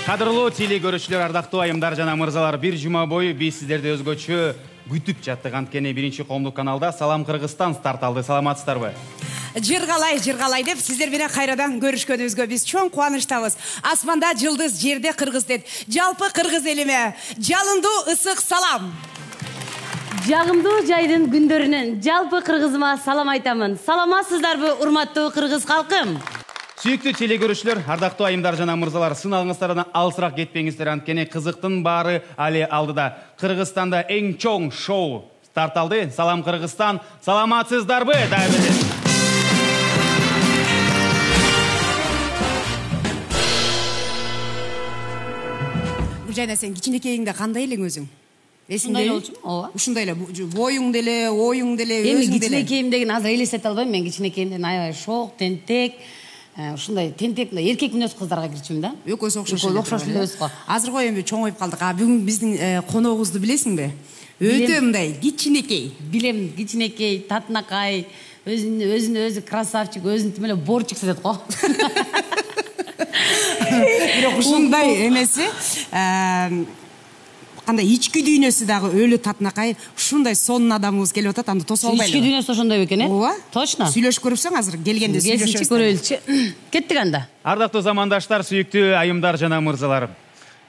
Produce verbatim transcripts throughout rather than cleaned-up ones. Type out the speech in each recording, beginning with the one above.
Кадырлуу теле көрүүчүлөр, ардактуу айымдар жана мырзалар, бир жума бою биз сиздерди өзгөчө күтүп жаттык. Анткени биринчи коомдук каналда Салам Кыргызстан старт алды. Саламатсыздарбы? Жыргалай, жыргалай деп сиздер менен кайрадан көрүшкөнүбүзгө биз чоң кубанычтабыз. Асманда жылдыз, жерде кыргыз дет. Жалпы кыргыз элиме жалындуу ысык салам. Жагымдуу жайдын күндөрүнөн жалпы кыргызыма салам айтамын. Саламатсыздарбы, урматтуу кыргыз калкым? Сүйүктүү теле көрүүчүлөр, ардактуу айымдар жана мырзалар, сыналыңыздардан алысыраак кетпеңиздер, анткени кызыктын баары али алдыда. Кыргызстанда эң чоң шоу старт алды. Салам Кыргызстан, саламатсыздарбы? Жайна, сен кичинекейиңде кандай элең өзүң? Ушундай болчумун, ооба. Ушундай эле, боюң деле, оюң деле, өзүң деле. Эми кичинекейим деген азыр элестете албайм. Мен кичинекейимден аябай шок, тентек, ушундай тентек, эркек мүнөз кыздарга кирчүмүн да. Экөөсү окшош эле. Окшош элебиз го. Азыр эми чоңоюп калдык. А бүгүн биздин коногубузду билесиңби? Өтө мындай кичинекей. Билем, кичинекей, татынакай, өзүн өзүн өзү красавчик, өзүн тим эле борчик сезет го. Бирок ушундай эмеси, кандай ички дүйнөсү дагы өлү татынакай, ушундай сонун адамыбыз келип атат, аны тосо албайлы. Ички дүйнөсү ошондой бекен, э? Ооба. Точно. Сүйлөшүп көрүпсөң азыр келгенде сүйлөшөбүз. Келсинчи көрөлүчү. Кеттик анда. Ардактуу замандаштар, сүйүктүү айымдар жана мырзалар.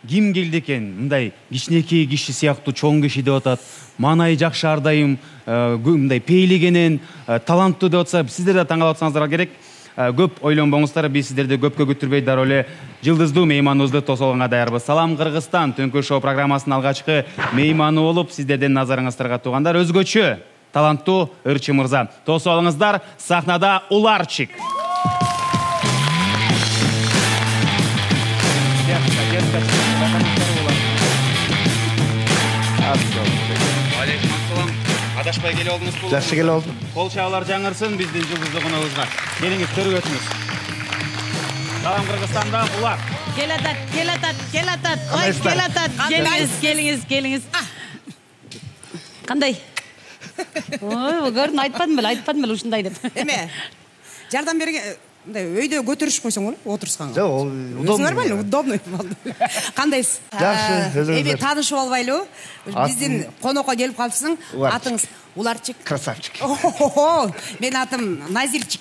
Ким келди экен? Мындай кичинекей киши сыяктуу чоң киши деп атат. Манай жакшы ардайым, мындай пейлигенен, таланттуу деп атса, сиздер да таң калып атсаңыздар керек. Көп ойлонбоңуздар, биз сиздерди көпкө күттүрбөй дароо эле жылдыздуу мейманыбызды тосо алганга даярбыз. Салам Кыргызстан Түнкү шоу программасынын алгачкы мейманы болуп, сиздердин назарыңыздарга туугандар өзгөчө таланттуу ырчы мырза. Тосо алыңыздар, сахнада Уларчик. Адашпай келип алдыңыз бул. Жакшы келип алдым. Кол чабуулар жаңырсын биздин жылдыздуу коногубузга. Келиңиз, көрүп өтүңүз. Салам Кыргызстанда Улар. Келатат, келатат, келатат. Ой, келатат. Келиңиз, келиңиз, келиңиз. Кандай? Ой, көрдүң, айтпадым беле, айтпадым беле ушундай деп. Эме, жардам берген, мындай өйдө көтөрүш койсоң болот, отурсканга. Жок, ол удобно. Нормально, удобно болду. Кандайсыз? Жакшы, өзүңүз. Эми таанышып албайлы. Биздин конокко келип калыпсың. Атыңыз Уларчик. Красавчик. Мен атым Назирчик.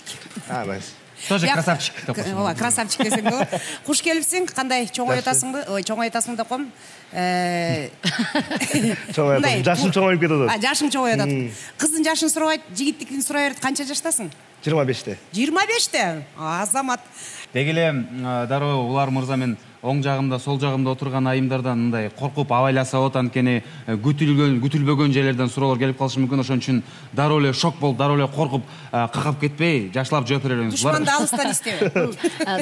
А, Назир. Тоже красавчик деп коесуң. Ооба, красавчик десең болот. Куш келипсиң? Кандай чоңой атасыңбы? Ой, чоңой атасың деп коем. Э Чоңой атасың. Жашың чоңоюп кетип атат. А, жашың чоңоюп атат. Кыздын жашын сурабайт, жигиттикин сурай берет. Канча жаштасың? жыйырма беште. жыйырма беште? Азамат. Деги эле дароо Улар мырза, мен оң жагымда, сол жагымда отурган айымдардан мындай коркуп абайласа болот, анткени күтүлгөн, күтүлбөгөн жерлерден суроолор келип калышы мүмкүн. Ошон үчүн дароо эле шок болуп, дароо эле коркуп, какап кетпей, жашылап жооп бере бериңиз. Душманды алыстан издебе.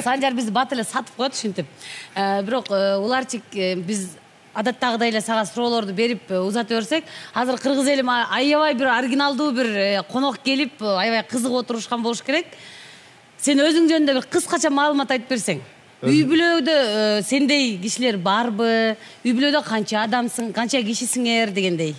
Санжар бизди бат эле сатып коет ушинтип. Бирок Уларчик, биз адаттагыдай эле сага суроолорду берип узата берсек, азыр кыргыз элим аябай бир оригиналдуу бир конок келип, аябай кызыгып отурушкан болуш керек. Сен өзүң жөнүндө бир кыскача маалымат айтып берсең. Үй бүлөдө сендей кишилер барбы? Үй бүлөдө канча адамсың, канча кишисиңер дегендей.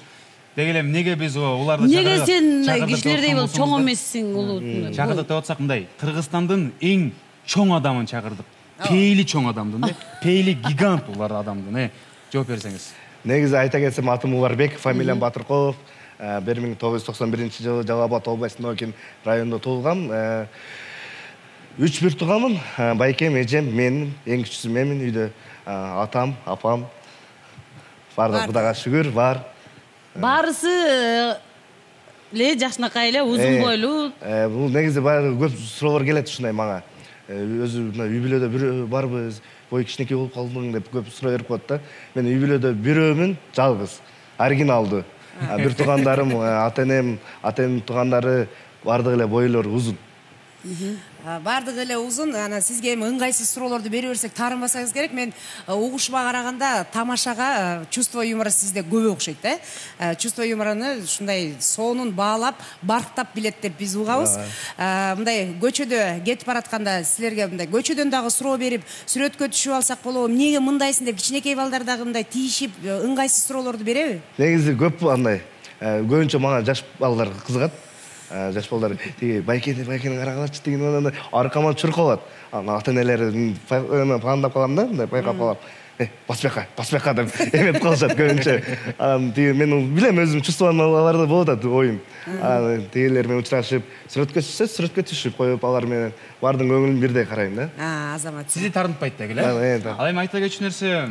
Деги эле эмнеге биз уларды чакырдык? Неге сен кишилердей болуп чоң эмессиң, улуу? Чакырдык деп атсак мындай, Кыргызстандын эң чоң адамын чакырдык. Пейли чоң адамдын, пейли гигант улар адамдын, э. Жооп берсеңиз. Негизи айта кетсем, атым Уларбек, фамилиям Батыркулов. бир миң тогуз жүз токсон биринчи жылы Жалал Абад областынын Окен районунда туулгам. Үч бир тууганмын. Байкем, эжем, мен, эң кичүүсү менмин үйдө. Атам, апам. Бардык Кудайга шүгүр, бар. Барысы эле жашынакай эле, узун бойлуу. Бул негизи баары көп суроолор келет ушундай мага. Өзү үй бүлөдө бирөө барбы, бой кичинекей болуп калдың деп көп суроо берип коет да. Мен үй бүлөдө бирөөмүн, жалгыз, оригиналдуу. Бир туугандарым, ата-энем, ата-энемдин туугандары бардык эле бойлору узун. Бардык эле узун. Ана сизге эми ыңгайсыз суроолорду бере берсек таарынбасаңыз керек. Мен угушума караганда тамашага чувство юмора сизде көп окшойт, э. Чувство юморону ушундай сонун баалап, барктап билет деп биз угабыз. Мындай көчөдө кетип баратканда силерге мындай көчөдөн дагы суроо берип, сүрөткө түшүп алсак болобу? Эмнеге мындайсың деп кичинекей балдар дагы мындай тийишип, ыңгайсыз суроолорду береби? Негизи көп андай. Көбүнчө мага жаш балдар кызыгат. Жаш балдар тиги байкени байкени карагылачы деген аркаман чуркалат. Ана ата-энелери пландап калам да, мындай байкап калам. баспака баспака деп эметип калышат көбүнчө. Анан тиги мен билем өзүм чувствованияларды болуп атат оюм. Анан тигилер менен учурашып, сүрөткө түшсө сүрөткө түшүп коюп, алар менен баардын көңүлүн бирдей карайм да. А, Азамат. Сизди тартынтпайт деги эле. Ал эми айта кетчү нерсе,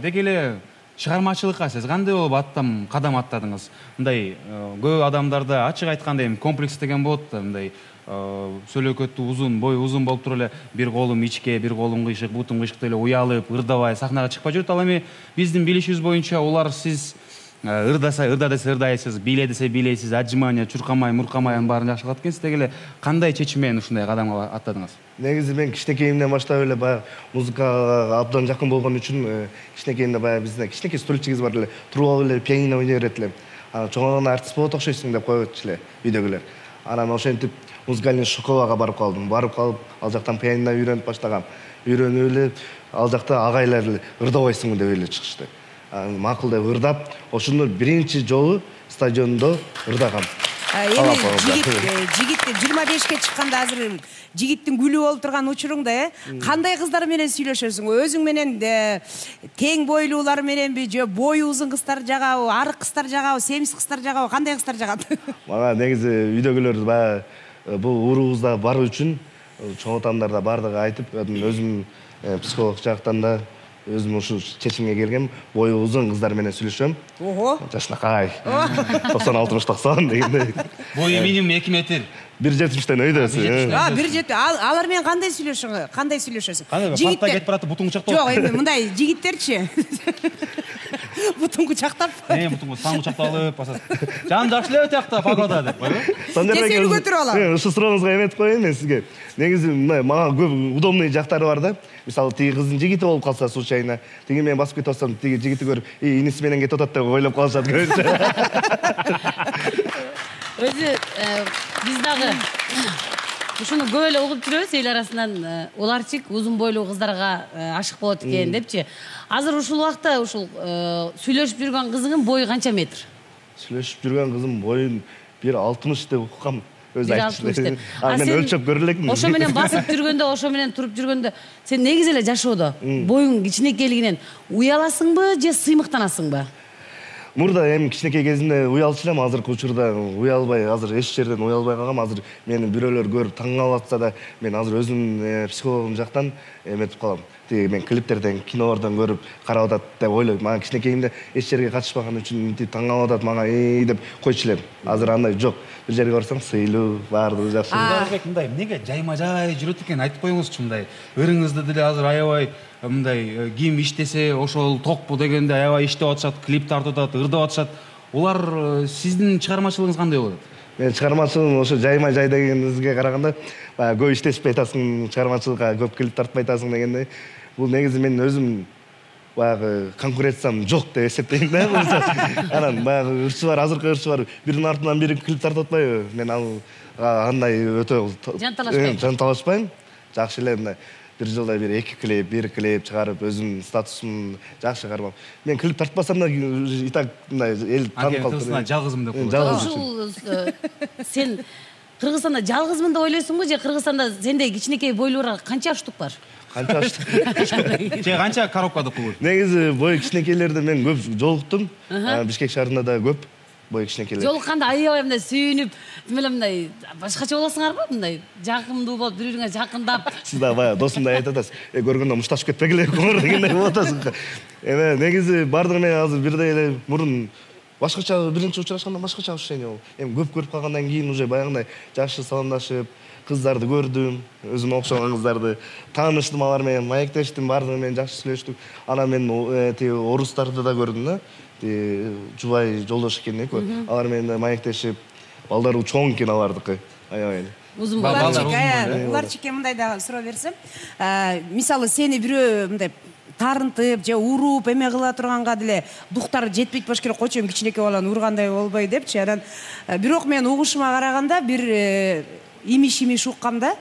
деги эле чыгармачылыкка сиз кандай болуп аттам кадам аттадыңыз? Мындай көп адамдарда ачык айтканда эми комплекс деген болот да, мындай сөйлөкөтү узун, бою узун болуп туруп эле бир колум ичке, бир колум кыйшык, бутум кыйшык деп эле уялып, ырдабай сахнага чыкпай жүрөт. Ал эми биздин билишибиз боюнча улар сиз ырдаса ырда десе ырдайсыз, бийле десе бийлейсиз, отжимание, чуркамай, муркамай анын баарын жакшы кылат экенсиз. Деги эле кандай чечим менен ушундай кадамга аттадыңыз? Негизи мен кичинекейимден баштап эле баягы музыкага абдан жакын болгон үчүн кичинекейимде баягы бизде кичинекей стульчигибиз бар эле, туруп алып эле пианино ойной берет элем. Анан чоңойгондо артист болот окшойсуң деп койчу эле үйдөгүлөр. Анан ошентип музыкальный школага барып калдым. Барып калып, ал жактан пианино үйрөнүп баштагам. Үйрөнүп эле ал жакта агайлар эле ырдабайсыңбы деп эле чыгышты. Анан макул деп ырдап, ошондо биринчи жолу стадиондо ырдагам. Эми жигит жигит жыйырма бешке чыкканда азыр жигиттин гүлү болуп турган учуруңда э кандай кыздар менен сүйлөшөсүң? Өзүң менен тең бойлуулар мененби, же бою узун кыздар жагабы, арык кыздар жагабы, семиз кыздар жагабы, кандай кыздар жагат? Мага негизи үйдөгүлөр баягы бул уруубузда бар үчүн чоң атамдар да бардыгы айтып, өзүм психолог жактан да өзүм ушу чечимге келгем, бою узун кыздар менен сүйлөшөм. Ого. Жашынакай. токсон алтымыш токсон дегендей. Бою минимум эки метр. бир жетимиштен өйдөсү. А, бир жети. Алар менен кандай сүйлөшөң? Кандай сүйлөшөсүң? Жигиттер кетип барат, бутун кучактап. Жок, эми мындай жигиттерчи. Бутун кучактап. Э, бутун сан кучактап алып басат. Жан жакшы эле тиякта погода деп койбу? Тесели көтөрүп алам. Ушу сурооңузга эметип коеюн мен сизге. Негизи мындай мага көп удобный жактары бар да. Мисалы тиги кыздын жигити болуп калса случайно, тиги менен басып кетип атсам, тиги жигити көрүп, "И, иниси менен кетип атат" деп ойлоп калышат көбүнчө. Өзү биз дагы ушуну көп эле угуп жүрөбүз эл арасынан, уларчык узун бойлуу кыздарга ашык болот экен депчи. Азыр ушул убакта ушул сүйлөшүп жүргөн кызыңын бою канча метр? Сүйлөшүп жүргөн кызым боюн бир алтымыш деп уккам. Өзү айтчу. А мен өлчөп көрө элекмин. Ошо менен басып жүргөндө, ошо менен туруп жүргөндө сен негизи эле жашоодо боюң кичинекейлигинен уяласыңбы же сыймыктанасыңбы? Мурда эми кичинекей кезимде уялчу элем, азыркы учурда уялбай, азыр эч жерден уялбай калгам. Азыр мени бирөөлөр көрүп таң калып атса да, мен азыр өзүм психологум жактан эметип калам. Тиги мен клиптерден, кинолордон көрүп карап атат деп ойлойм. Мага кичинекейимде эч жерге катышпаган үчүн мынтип таң калып атат, мага эй деп койчу элем. Азыр андай жок. Бир жерге барсаң сыйлуу, баардыгы жакшы. Мындай эмнеге жайма-жай жүрөт экен айтып коюңузчу мындай. Өрүңүздү деле азыр аябай мындай ким иштесе ошол токпу дегенде аябай иштеп атышат, клип тартып атат, ырдап атышат. Улар сиздин чыгармачылыгыңыз кандай болот? Мен чыгармачылыгым ошо жайма-жай дегениңизге караганда, көп иштешпей атасың, чыгармачылыкка көп клип тартпай атасың дегендей. Бул негизи мен өзүм баягы конкуренциям жок деп эсептейм да. Анан баягы ырчылар, азыркы ырчылар биринин артынан бири клип тартып атпайбы? Мен ал андай өтө жанталашпайм. Жанталашпайм. Жакшы эле мындай бир жылда бир эки клип, бир клип чыгарып, өзүмдүн статусумду жакшы кармап. Мен клип тартпасам да и так мындай эл таанып калып. Жалгызым деп коет. Ушул сен Кыргызстанда жалгызмын деп ойлойсуңбу же Кыргызстанда сендей кичинекей бойлууларга канча аштык бар? Канча аштык? Же канча коробкада пул? Негизи бой кичинекейлерди мен көп жолуктум. Бишкек шаарында да көп бой кичинекейлер. Жолукканда аябай мындай сүйүнүп, эле мындай башкача болосуңарбы? Мындай жакындуу болуп, бири-бириңе жакындап. Сиз да баягы досумдай айтып атасыз. Э, көргөндө мушташып кетпегиле көңүр дегендей болуп атасың. Эме негизи бардыгы менен азыр бирдей эле мурун башкача биринчи учурашканда башкача ощущение болду. Эми көп көрүп калгандан кийин уже баягындай жакшы саламдашып, кыздарды көрдүм, өзүмө окшогон кыздарды тааныштым, алар менен маектештим, бардыгы менен жакшы сүйлөштүк. Анан мен тиги орустарды да көрдүм да. Тиги Жубай жолдош экен экөө. Алар менен да маектешип, балдары чоң экен алардыкы. Аябай. Узун балдар. Уларчык мындай да суроо берсем, мисалы сени бирөө мындай тарынтып же уруп эме кыла турганга деле дуктар жетпейт болуш керек, койчу кичинекей баланы ургандай болбой депчи. Анан бирок мен угушума караганда бир имиш-имиш уккамда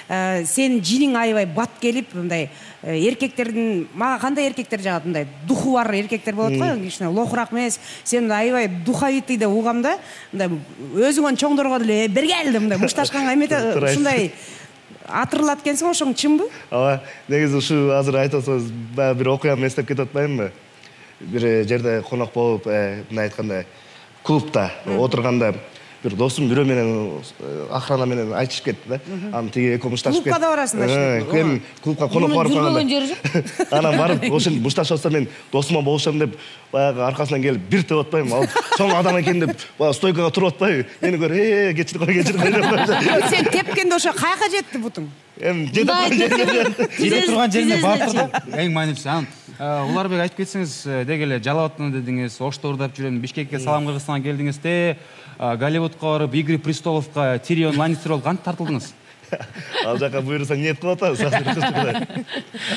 сен жиниң аябай бат келип мындай эркектердин, мага кандай эркектер жагат, мындай духу бар эркектер болот го, кичине лохураак эмес. Сен аябай духовитый деп угам да, мындай өзүңөн чоңдорго деле бергел деп мындай мушташканга эмете ушундай атырылат экенсиң, ошоң чынбы? Ооба, негизи ушу азыр айтып атсаңыз, баягы бир окуяны эстеп кетип атпаймынбы? Бир жерде конок болуп, мындай айтканда, клубда отурганда бир досум бирөө менен охрана менен айтышып кетти да. Анан тиги экөө мушташып кетти. Клубка да барасыңдар иште. Эми клубка конок барып калганда. Жүрбөгөн жери жок. Анан барып, ошол мушташып атса мен досума болушам деп, баягы аркасынан келип бир деп атпаймынбы? Ал чоң адам экен деп, баягы стойкага туруп атпайбы? Мени көрүп, "Э, кечирип кой, кечирип кой" деп. Сен тепкенде ошо каяка жетти бутуң? Эми жетип калды. Жетип турган жерине баптыр да. Эң маанилүүсү. Анан Уларбек айтып кетсеңиз, деги эле Жалал абадтан дедиңиз, Ошто ырдап жүрөм, Бишкекке салам Кыргызстанга келдиңиз де, Голливудка барып, Игорь Престоловка, Тирион Ланнистер болуп кантип тартылдыңыз? Ал жака буйрусаң ниет кылып атабыз.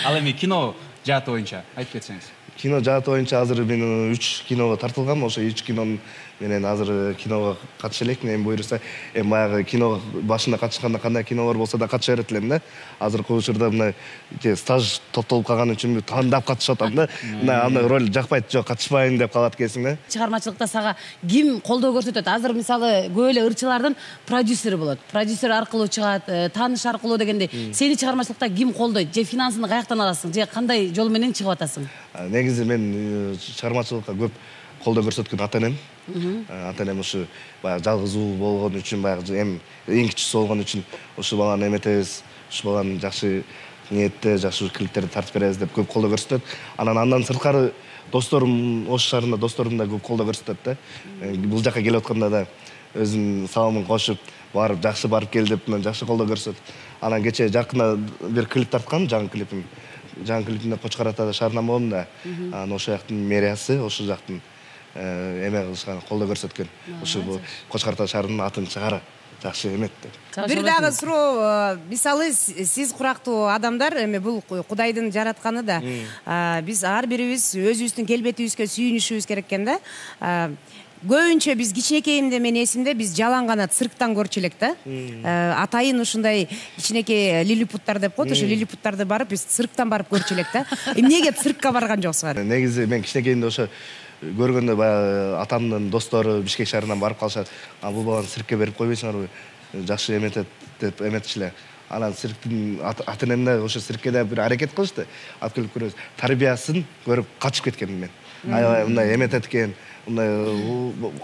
Ал эми кино жааты боюнча айтып кетсеңиз. Кино жааты боюнча азыр мен үч киного тартылгам. Ошо үч кинонун менен азыр киного катыша элекмин. Эми буйруса, эми баягы киного башында катышканда кандай кинолор болсо да катыша берет элем да. Азыркы учурда мына стаж топтолуп калган үчүн тандап катышып атам да. Мына андай роль жакпайт, жок катышпайын деп калат экенсиң да. Чыгармачылыкта сага ким колдоо көрсөтөт? Азыр мисалы көп эле ырчылардын продюсери болот. Продюсер аркылуу чыгат, тааныш аркылуу дегендей. Сени чыгармачылыкта ким колдойт? Же финансыны каяктан аласың? Же кандай жол менен чыгып атасың? Негизи мен чыгармачылыкка көп колдоо көрсөткөн ата-энем. Ата-энем ушу баягы жалгыз уу болгон үчүн, баягы эми эң кичүүсү болгон үчүн ушу баланы эметебиз, ушу баланы жакшы ниетте, жакшы клиптерди тартып беребиз деп көп колдоо көрсөтөт. Анан андан сырткары досторум, Ош шаарында досторум да көп колдоо көрсөтөт да. Бул жака келип атканда да өзүнүн саламын кошуп, барып жакшы барып кел деп жакшы колдоо көрсөтөт. Анан кечээ жакында бир клип тарткам, жаңы клипим. Жаңы клипимде Кочкор Атада шаарынан болдум да. Анан ошол жактын мэриясы, ошол жактын эме кылышкан, колдоо көрсөткөн. Ушу Кочкор Ата шаарынын атын чыгара жакшы эмет деп. Бир дагы суроо, мисалы сиз курактуу адамдар, эми бул Кудайдын жаратканы да. Биз ар бирибиз өзүбүздүн келбетибизге сүйүнүшүбүз керек экен да. Көбүнчө биз кичинекейимде мен эсимде биз жалаң канат цирктан көрчү элек да. Атайын ушундай кичинекей лилипуттар деп коет, ошо лилипуттарды барып биз цирктан барып көрчү элек да. Эмнеге циркка барган жоксуңар? Негизи мен кичинекейимде ошо көргөндө баягы атамдын достору Бишкек шаарынан барып калышат. А бул баланы циркке берип койбойсуңарбы? Жакшы эметет деп эметчү эле. Анан цирктин ата-энем да ошо циркке да бир аракет кылышты. Открыть көрөбүз. Тарбиясын көрүп качып кеткенмин мен. Аябай мындай эметет экен, мындай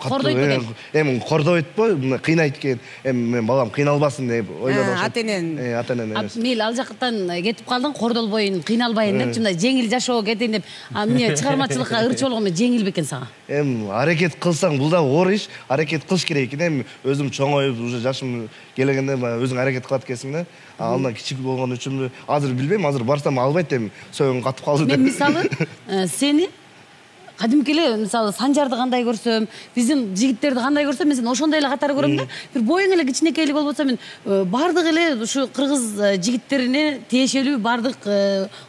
кордойт эми кордойтпу, мындай кыйнайт экен. Эми мен балам кыйналбасын деп ойлодум. Ата-энен. Э, ата-энен эмес. Мейли ал жактан кетип калдың, кордолбойн, кыйналбайын деп, мындай жеңил жашоо кетейин деп. А эмне чыгармачылыкка ырчы болгону жеңил бекен сага? Эми аракет кылсаң бул да оор иш, аракет кылыш керек экен. Эми өзүм чоңоюп, уже жашым келгенде өзүң аракет кылат экенсиң да. Андан кичик болгон үчүн азыр билбейм, азыр барсам албайт эми. Союң катып калды деп. Мен мисалы сени кадимки эле мисалы Санжарды кандай көрсөм, биздин жигиттерди кандай көрсөм, мен сени ошондой эле катары көрөм да. Бир боюң эле кичинекейлик болуп атса, мен бардык эле ушу кыргыз жигиттерине тиешелүү бардык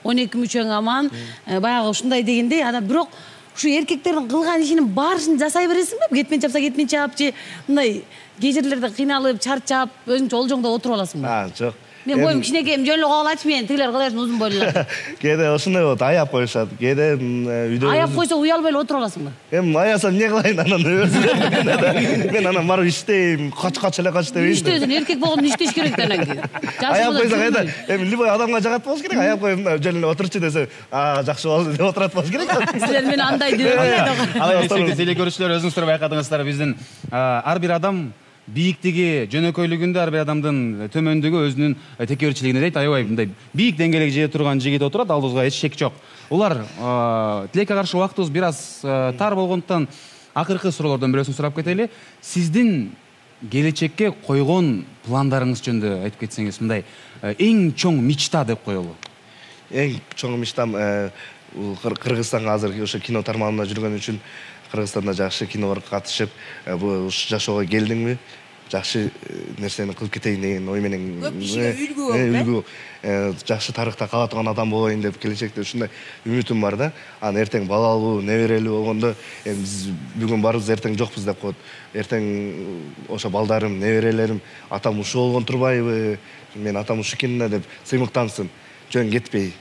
он эки мүчөң аман, баягы ушундай дегендей, анан бирок ушу эркектердин кылган ишинин баарысын жасай бересиңби? Кетмен чапса кетмен чап же мындай кээ жерлерде кыйналып, чарчап, өзүңчө олжоңдо отуруп аласыңбы? А, жок. Мен боюм кичинекейим, жөн эле коогалачы мени, тигилер кылайын узун бойлуулар. Кээде ошондой болот, аяп коюшат. Кээде үйдө аяп койсо уялбай эле отуруп аласыңбы? Эми аясам эмне кылайын анан өзүм. Мен анан барып иштейм, кач кач эле кач дебейин. Иштөөсүн эркек болгондо иштеш керек да анан кийин. Аяп койсо кайда? Эми любой адамга жагат болуш керек. Аяп коюп жөн эле отурчу десе, а жакшы болду деп отурат болуш керек. Силер мени андай деп ойлойт. Ал эми сүйүктүү телекөрүүчүлөр, өзүңүздөр байкадыңыздар, биздин ар бир адам бийиктиги, жөнөкөйлүгүндө ар бир адамдын төмөндүгү өзүнүн текеберчилигине дейт. Аябай мындай бийик деңгээлге жете турган жигит отурат, ал бузга эч шек жок. Улар тилекке каршы убактыбыз бир аз тар болгондуктан акыркы суроолордон бирөөсүн сурап кетели. Сиздин келечекке койгон пландарыңыз жөнүндө айтып кетсеңиз, мындай эң чоң мечта деп коелу. Эң чоң мечтам Кыргызстанга азыр ошо кино тармагында жүргөн үчүн Кыргызстанда жакшы кинолорго катышып, ушу жашоого келдиңби, жакшы нерсени кылып кетейин деген ой менен. Көп кишиге үлгү болуп, үлгү, жакшы тарыхта кала турган адам болоюн деп келечекте ушундай үмүтүм бар да. Анан эртең балалуу, неберелүү болгондо, эми биз бүгүн барбыз, эртең жокпуз деп коет. Эртең ошо балдарым, неберелерим, атам ушу болгон турбайбы, мен атам ушу экен да деп сыймыктансын, жөн кетпей.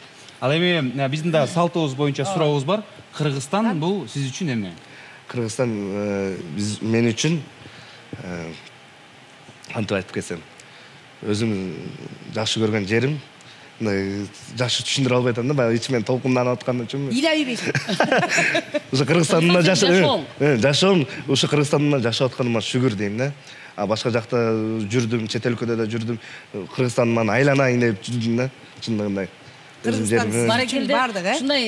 Ал эми биздин да салтыбыз боюнча сурообуз бар. Кыргызстан бул сиз үчүн эмне? Кыргызстан биз мен үчүн кантип айтып кетсем, өзүм жакшы көргөн жерим. Мындай жакшы түшүндүрө албай атам да, баягы ичимен толкунданып аткан үчүнбү. Илайбек. Ушу Кыргызстанда жашоом. Жашоом ушу Кыргызстанда жашап атканыма шүгүр дейм да. А башка жакта жүрдүм, чет өлкөдө да жүрдүм. Кыргызстандын айланайын деп жүрдүм да, чындыгында. Баракелде бардык, э? Ушундай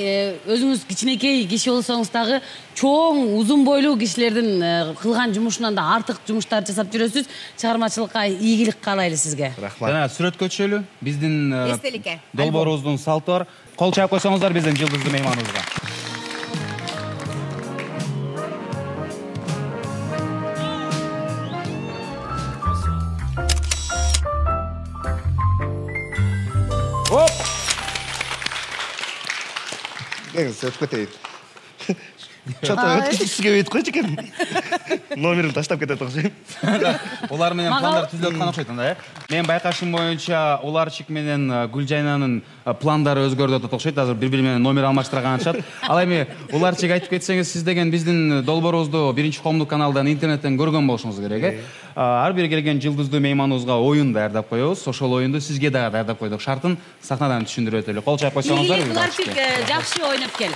өзүңүз кичинекей киши болсоңуз дагы чоң, узун бойлуу кишилердин кылган жумушунан да артык жумуштар жасап жүрөсүз. Чыгармачылыкка ийгилик каалайлы сизге. Рахмат. Жана сүрөткө түшөлү. Биздин эстеликке. Долбоорубуздун салты бар. Кол чаап койсоңуздар биздин жылдыздуу мейманыбызга. Оп! Кеңиз өтүп кетейин. Чото өткүзгүсү келбейт койчу экен. Номерин таштап кетет окшойм. Улар менен пландар түзүлүп аткан окшойт анда, э? Мен байкашым боюнча Уларчик менен Гүлжайнанын пландары өзгөрүп атат окшойт. Азыр бири-бири менен номер алмаштырган атышат. Ал эми Уларчик айтып кетсеңиз, сиз деген биздин долбоорубузду биринчи коомдук каналдан, интернеттен көргөн болушуңуз керек, э? Ар бир келген жылдыздуу мейманыбызга оюн даярдап коебуз. Ошол оюнду сизге дагы даярдап койдук. Шартын сахнадан түшүндүрүп өтөлү. Кол чаап койсоңуздар. Уларчик жакшы ойноп кел.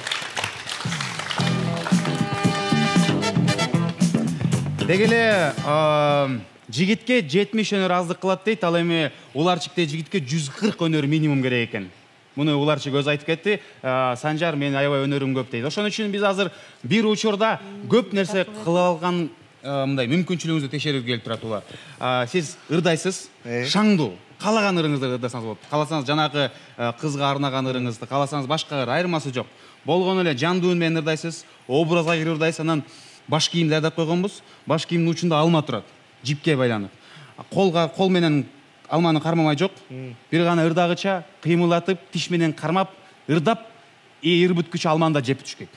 Деги эле жигитке жетимиш өнөр аздык кылат дейт. Ал эми Уларчикте жигитке жүз кырк өнөр минимум керек экен. Муну Уларчик өзү айтып кетти. Санжар, мен аябай өнөрүм көп дейт. Ошон үчүн биз азыр бир учурда көп нерсе кыла алган мындай мүмкүнчүлүгүңүздү текшерүүгө келип турат Улар. Сиз ырдайсыз, шаңдуу. Каалаган ырыңызды ырдасаңыз болот. Кааласаңыз жанагы кызга арнаган ырыңызды, кааласаңыз башка ыр, айырмасы жок. Болгону эле жандуу үн менен ырдайсыз, образга кирип ырдайсыз, анан баш кийим даярдап койгонбуз. Баш кийимдин учунда алма турат, жипке байланып. Колга кол менен алманы кармамай жок. Бир гана ырдагыча кыймылдатып, тиш менен кармап, ырдап, ыр бүткүчө алманы да жеп түшкөк.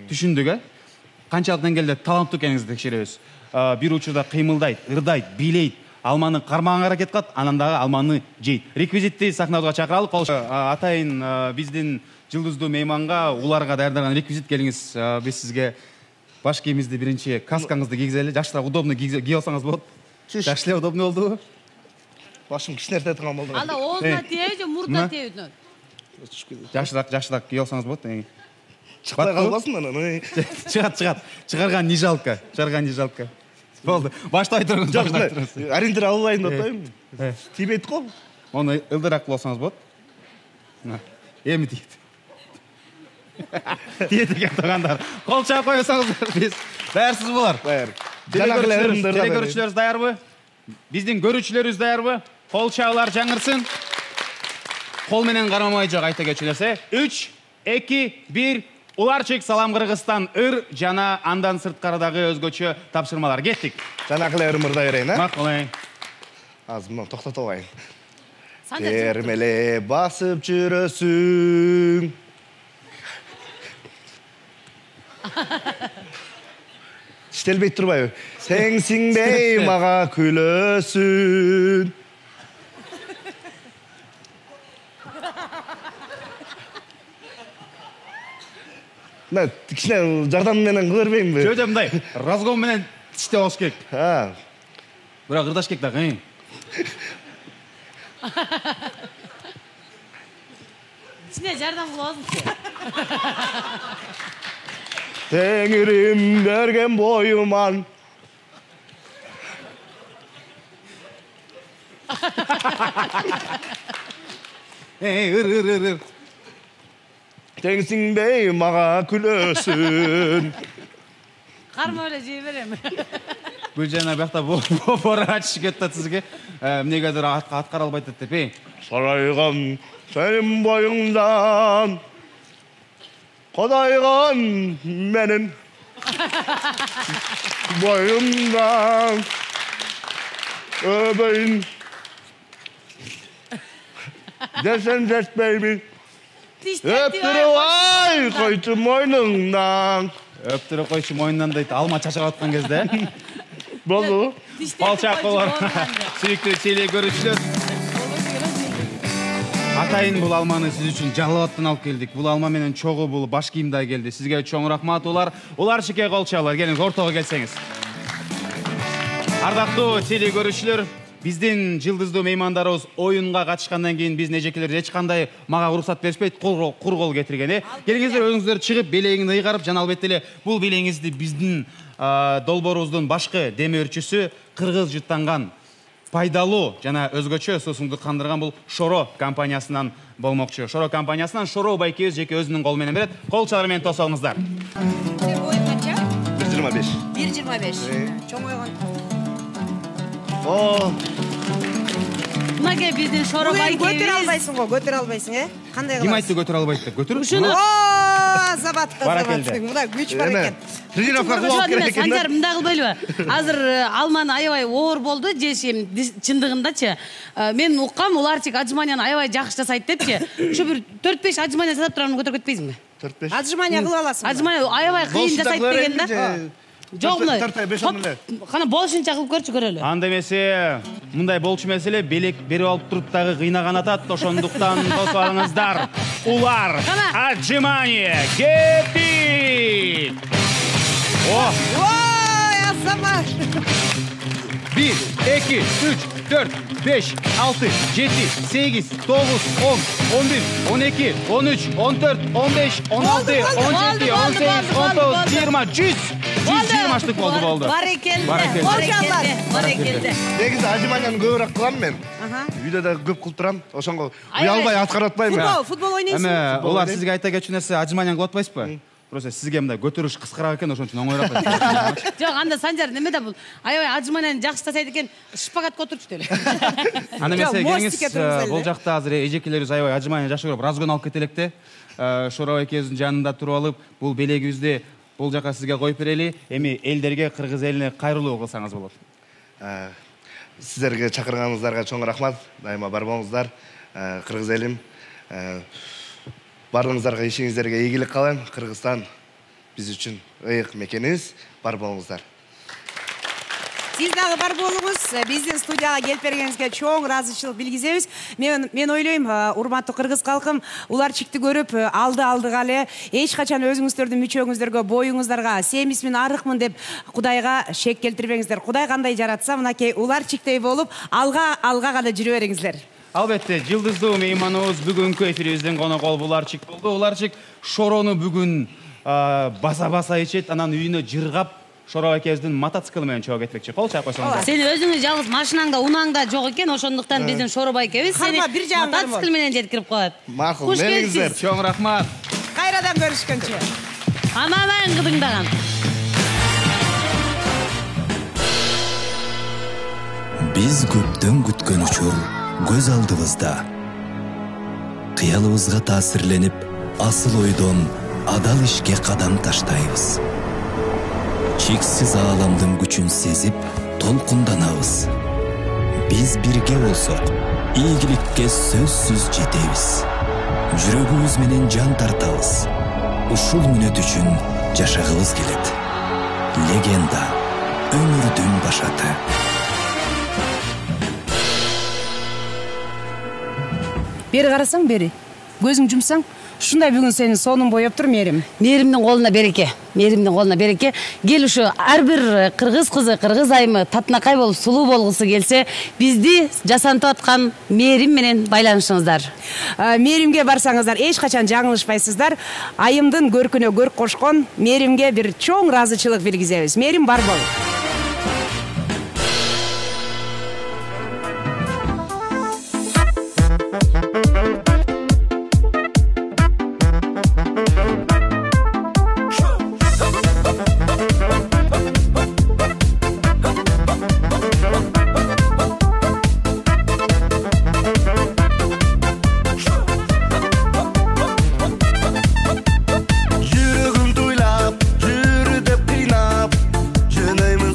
Түшүндүк, э? Канчалык деңгээлде таланттуу экениңизди текшеребиз. Бир учурда кыймылдайт, ырдайт, бийлейт, алманы кармаганга аракет кылат, анан дагы алманы жейт. Реквизитти сахнабызга чакыралы. Атайын биздин жылдыздуу мейманга, Уларга даярдаган реквизит келиңиз. Биз сизге баш кийимиңизди биринчи каскаңызды кийгизели. Жакшыраак удобный кийип алсаңыз болот. Жакшы эле удобный болдубу? Башым кичинерте турган болду. Анда оозуна тийеби же мурдуна тийеби? Жакшыраак, жакшыраак кийип алсаңыз болот. Чыкпай калбасын анан. Чыгат, чыгат. Чыгарган не жалко. Чыгарган не жалко. Болду. Баштай туруңуз. Жок, ориентир албайын деп атпаймынбы? Тийбейт го. Оны ылдыраак кылып алсаңыз болот. Эми тийет. Тиет экен туугандар. Кол чаап койсоңуздар, биз даярсыз булар. Даяр. Телекөрүүчүлөрүбүз даярбы? Биздин көрүүчүлөрүбүз даярбы? Кол чаалар жаңырсын. Кол менен кармамай жок айта кетчү нерсе. үч, эки, бир. Уларчик, Салам Кыргызстан, ыр жана андан сырткарыдагы өзгөчө тапшырмалар. Кеттик. Жанакы эле ырым ырдай берейин, э? Макулайын. Азыр мына токтотуп алайын. Термеле басып жүрөсүң. Иштелбейт турбайбы? Сеңсиңбей мага күлөсүн. Мына кичине жардам менен кыла бербейинби? Жөө жөө мындай разгон менен иштеп алыш керек. Ha. Бирок ырдаш керек дагы. Кичине жардам кылабызчы. Теңирим берген боюман. Эй, ыр ыр ыр ыр. Теңсиңбей мага күлөсүн. Карма эле жей берем. Гүлжана бакта бора ачыш кетти сизге. Эмнегедир аткара албайт деп, эй. Сарайган сенин боюңдан. Кодайган менин боюмдан. Öbeyim. Desen jetmeymi. Öptürüp ay koytu moynundan. Öptürüp koytu moyundan deydi. Alma çaşak atkan kezde. Boldu. Balçak olur. Sürekli çeyliğe görüşürüz. Атайын бул алманы сиз үчүн Жалал-Абадтан алып келдик. Бул алма менен чогуу бул баш кийимде келди. Сизге чоң рахмат улар. Уларчикке кол чалар. Келиңиз, ортого келсеңиз. Ардактуу теле көрүүчүлөр, биздин жылдыздуу меймандарыбыз оюнга катышкандан кийин биздин эжекелер эч кандай мага уруксат беришпейт, кур кол кетирген э. Келиңиздер, өзүңүздөр чыгып белегиңди ыйгарып, жана албетте эле бул белегиңизди биздин долбоорубуздун башкы демөөрчүсү кыргыз жыттанган пайдалуу жана өзгөчө суусуңду кандырган бул Шоро компаниясынан болмокчу. Шоро компаниясынан Шоро байкебиз жеке өзүнүн колу менен берет. Кол чалар менен тосоңуздар. Боюң канча? бир жыйырма беш. бир жыйырма беш. Чоң ойгон. О, Мынакей биздин Шоро байкебиз. Көтөрө албайсың го, көтөрө албайсың, э? Кандай кыласың? Ким айтты көтөрө албайт деп? Көтөрүп. Ушуну О, забат, Баракелде. забат. Мына күч бар экен. тренировка кылып керек экен. Санжар мындай кылбайлыбы? Азыр алманы аябай оор болду, жешим чындыгындачы. Мен уккам, уларчик отжиманияны аябай жакшы жасайт депчи. Ушу бир төрт беш отжимания жасап турганын көтөрүп кетпейсиңби? төрт беш. Отжимания кылып аласың. Отжимания аябай кыйын жасайт деген да. Жок, мына. Кана болушунча кылып көрчү, көрөлү. Анда эмесе, мындай болчу эмес эле, белек берип алып туруп дагы кыйнаган атат. Ошондуктан тосуп алыңыздар. Улар отжимания кепти. О, Ой, азамат. бир, эки, үч, төрт, беш, алты, жети, сегиз, тогуз, он, он бир, он эки, он үч, он төрт, он беш, он алты, он жети, он сегиз, он тогуз, жыйырма, жүз. жүз жыйырмаштык болду, болду. Барекелде. Барекелде. Барекелде. Негизи отжиманияны көбүрөөк кылам мен. Үйдө да көп кылып турам. Ошонго уялбай аткара атпайм. Футбол, футбол ойнойсуң. Эме, улар сизге айта кетчү нерсе, отжиманияны кылып атпайсызбы? Просто сизге мындай көтөрүш кыскараак экен, ошон үчүн оңоюраак. Жок, анда Санжар неме бул? Аябай отжиманияны жакшы жасайт экен, шпагатка отурчу деле. Анда эмесе келиңиз, бул жакта азыр эжекелерибиз аябай отжимания жакшы көрүп, разгон алып кетелек да. Шоро экөөбүздүн жанында туруп алып, бул белегибизди бул жака сизге коюп берели. Эми элдерге, кыргыз элине кайрылуу кылсаңыз болот. Сиздерге чакырганыңыздарга чоң рахмат. Дайыма бар болуңуздар. Кыргыз элим, баарыңыздарга ишиңиздерге ийгилик каалайм. Кыргызстан биз үчүн ыйык мекенибиз. Бар болуңуздар. Сиз дагы бар болуңуз. Биздин студияга келип бергениңизге чоң ыраазычылык билгизебиз. Мен мен ойлойм, урматтуу кыргыз калкым, уларчикти көрүп алды алдыга эле эч качан өзүңүздөрдүн мүчөңүздөргө, боюңуздарга семизмин, арыкмын деп Кудайга шек келтирбеңиздер. Кудай кандай жаратса, мынакей уларчиктей болуп, алга алга гана жүрө бериңиздер. Албетте, жылдыздуу мейманыбыз бүгүнкү эфирибиздин конокол Уларчик болду. Уларчик Шорону бүгүн баса-баса ичет, анан үйүнө жыргап Шоро экөөбүздүн мотоциклы менен чогуу кетмекчи. Кол чаап койсоңуздар. Сен өзүңүз жалгыз машинаңда, унаңда жок экен, ошондуктан биздин Шоро байкебиз сени мотоцикл менен жеткирип коет. Макул, мениңиздер. Чоң рахмат. Кайрадан көрүшкөнчө. Ананан кыдыңдаган. Биз көптөн күткөн учур көз алдыбызда. Кыялыбызга таасирленип, асыл ойдон адал ишке кадам таштайбыз. Чексиз ааламдын күчүн сезип, толкунданабыз. Биз бирге болсок, ийгиликке сөзсүз жетебиз. Жүрөгүбүз менен жан тартабыз. Ушул мүнөт үчүн жашагыбыз келет. Легенда, өмүрдүн башаты. Бери карасаң, бери. Көзүң жумсаң, ушундай бүгүн сени сонун боеп тур, Мерим. Меримдин колуна береке. Меримдин колуна береке. Кел ушу ар бир кыргыз кызы, кыргыз айымы татынакай болуп сулуу болгусу келсе, бизди жасантып аткан Мерим менен байланышыңыздар. Меримге барсаңыздар, эч качан жаңылышпайсыздар. Айымдын көркүнө көрк кошкон Меримге бир чоң ыраазычылык билгизебиз. Мерим, бар бол. Жүрөгүм туйлап, жүр деп кыйнап, жөнөймүн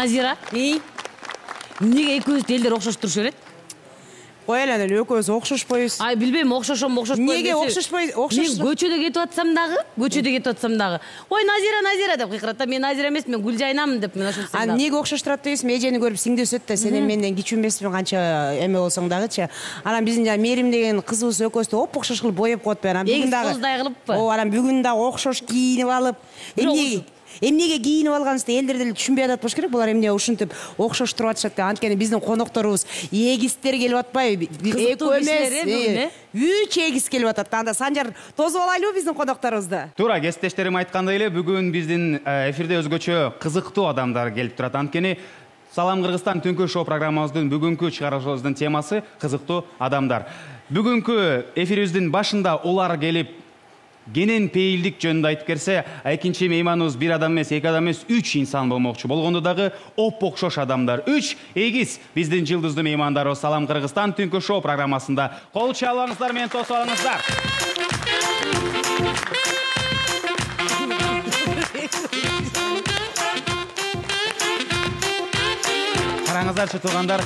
Назира, И эмнеге экөөбүздү элдер окшош турушу берет? кой эле эле экөөбүз окшошпойбуз. Ай, билбейм, окшошом, окшошпойм. Неге окшошпой, окшош? Мен көчөдө кетип атсам дагы, көчөдө кетип атсам дагы. Ой, Назира, Назира деп кыйкырат да. Мен Назира эмес, мен Гүлжайнамын деп мен ошентсем А дагы. неге окшоштурат дейсизби? Эжени көрүп сиңди өсөт да, сен менден кичүү эмеспиң канча эме болсоң дагычы. Анан биздин жана Мерим деген кызыбыз экөөбүздү оп окшош кылып боеп коет. Анан бүгүн Эгиз дагы коздай кылыппы? О, анан бүгүн дагы окшош кийинип алып, эмне эмнеге кийинип алганыбызды элдер деле түшүнбөй атат болуш керек. Булар эмне ушинтип окшош туруп атышат деп. Анткени биздин конокторубуз эгиздер келип атпайбы? Кызыктуу кишилер, э, бүгүн, э? Үч эгиз келип атат. Анда Санжар тосуп алайлыбы биздин конокторубузду? Туура, кесиптештерим айткандай эле бүгүн биздин эфирде өзгөчө кызыктуу адамдар келип турат. Анткени Салам Кыргызстан түнкү шоу программабыздын бүгүнкү чыгарылышыбыздын темасы кызыктуу адамдар. Бүгүнкү эфирибиздин башында улар келип кенен пейилдик жөнүндө айтып берсе, экинчи мейманыбыз бир адам эмес, эки адам эмес, үч инсан болмокчу болгондо дагы оп окшош адамдар. Үч эгиз биздин жылдыздуу меймандарыбыз Салам Кыргызстан түнкү шоу программасында. Кол чабыңыздар менен тосуп алыңыздар. Караңыздарчы туугандар,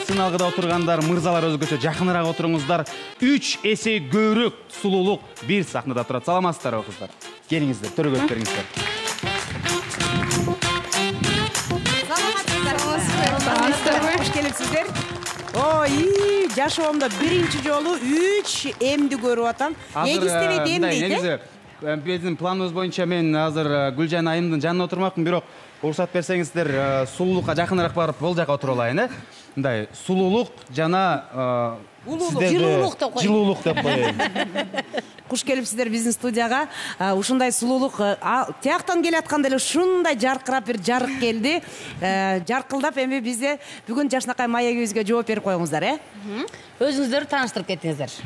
сыналгыда отургандар, мырзалар өзгөчө жакыныраак отуруңуздар. Үч эсе көбүрөөк сулуулук бир сахнада турат. Саламатсыздарбы кыздар? Келиңиздер, төрөгөп бериңиздер. Саламатсыздарбы? Кош келипсиздер. Ой, жашоомдо биринчи жолу үч эмди көрүп атам. Эгиз дебейт, эм дейт, э? Биздин планыбыз боюнча мен азыр Гүлжан айымдын жанына отурмакмын, бирок уруксат берсеңиздер, сулуулукка жакыныраак барып бул жака отуруп алайын, э? Мындай сулуулук жана жылуулук деп коеюн. Жылуулук деп коеюн. Куш келипсиздер биздин студияга. Ушундай сулуулук тияктан келатканда эле ушундай жаркырап бир жарык келди. Жаркылдап эми бизде бүгүн жашынакай маегибизге жооп берип коюңуздар, э? Өзүңүздөрдү тааныштырып кетиңиздер.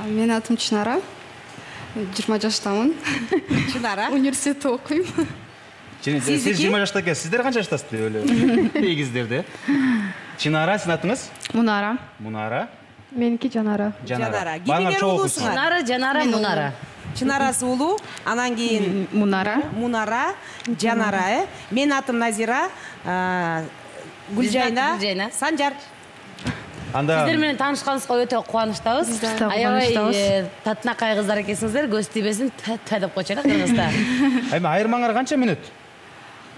Менин атым Чынара. жыйырма жаштамын. Чынара. Университетте окуйм. Сиз жыйырма жашта экенсиз. Сиздер канча жаштасыздар эле? Эгиздерде. Чынара, сиздин атыңыз? Мунара. Мунара. Меники Жанара. Жанара. Кимдер улуусуңар? Чынара, Жанара, Мунара. Чынарасы улуу, анан кийин Мунара. Мунара, Жанара, э? Менин атым Назира, Гүлжайна, Гүлжайна. Санжар. Анда Сиздер менен таанышканыбызга өтө кубанычтабыз. Биз да Аябай кубанычтабыз. татынакай кыздар экенсиңиздер, көз тийбесин, та деп койчу эле кыргызда. эми айырмаңар канча мүнөт?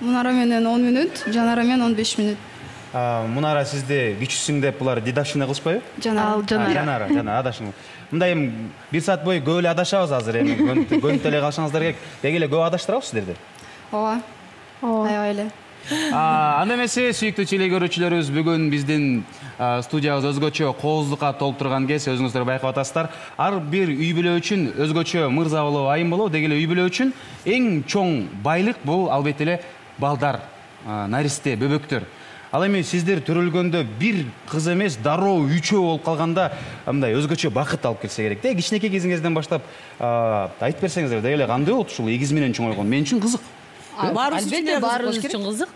Мунара менен он мүнөт, Жанара менен он беш мүнөт. Мунара сизди кичүүсүң деп булар дедовщина кылышпайбы? Жанара. Жанара, жана адашың. Мындай эми бир саат бою көп эле адашабыз азыр эми. Көнүп эле калышыңыздар керек. Деги эле көп адаштырабыз сиздерди. Ооба. Ооба. Аябай эле. Анда эмесе, сүйүктүү теле көрүүчүлөрүбүз, бүгүн биздин студиябыз өзгөчө кооздукка толуп турган кез, өзүңүздөр байкап атасыздар. Ар бир үй бүлө үчүн өзгөчө мырза болобу, айым болобу, деги эле үй бүлө үчүн эң чоң байлык бул албетте эле балдар, наристе, бөбөктөр. Ал эми сиздер төрөлгөндө бир кыз эмес, дароо үчөө болуп калганда мындай өзгөчө бакыт алып келсе керек да. Кичинекей кезиңизден баштап айтып берсеңиздер, деги эле кандай болот ушул эгиз менен чоңойгон? Мен үчүн кызык. Албетте баарыбыз үчүн кызык.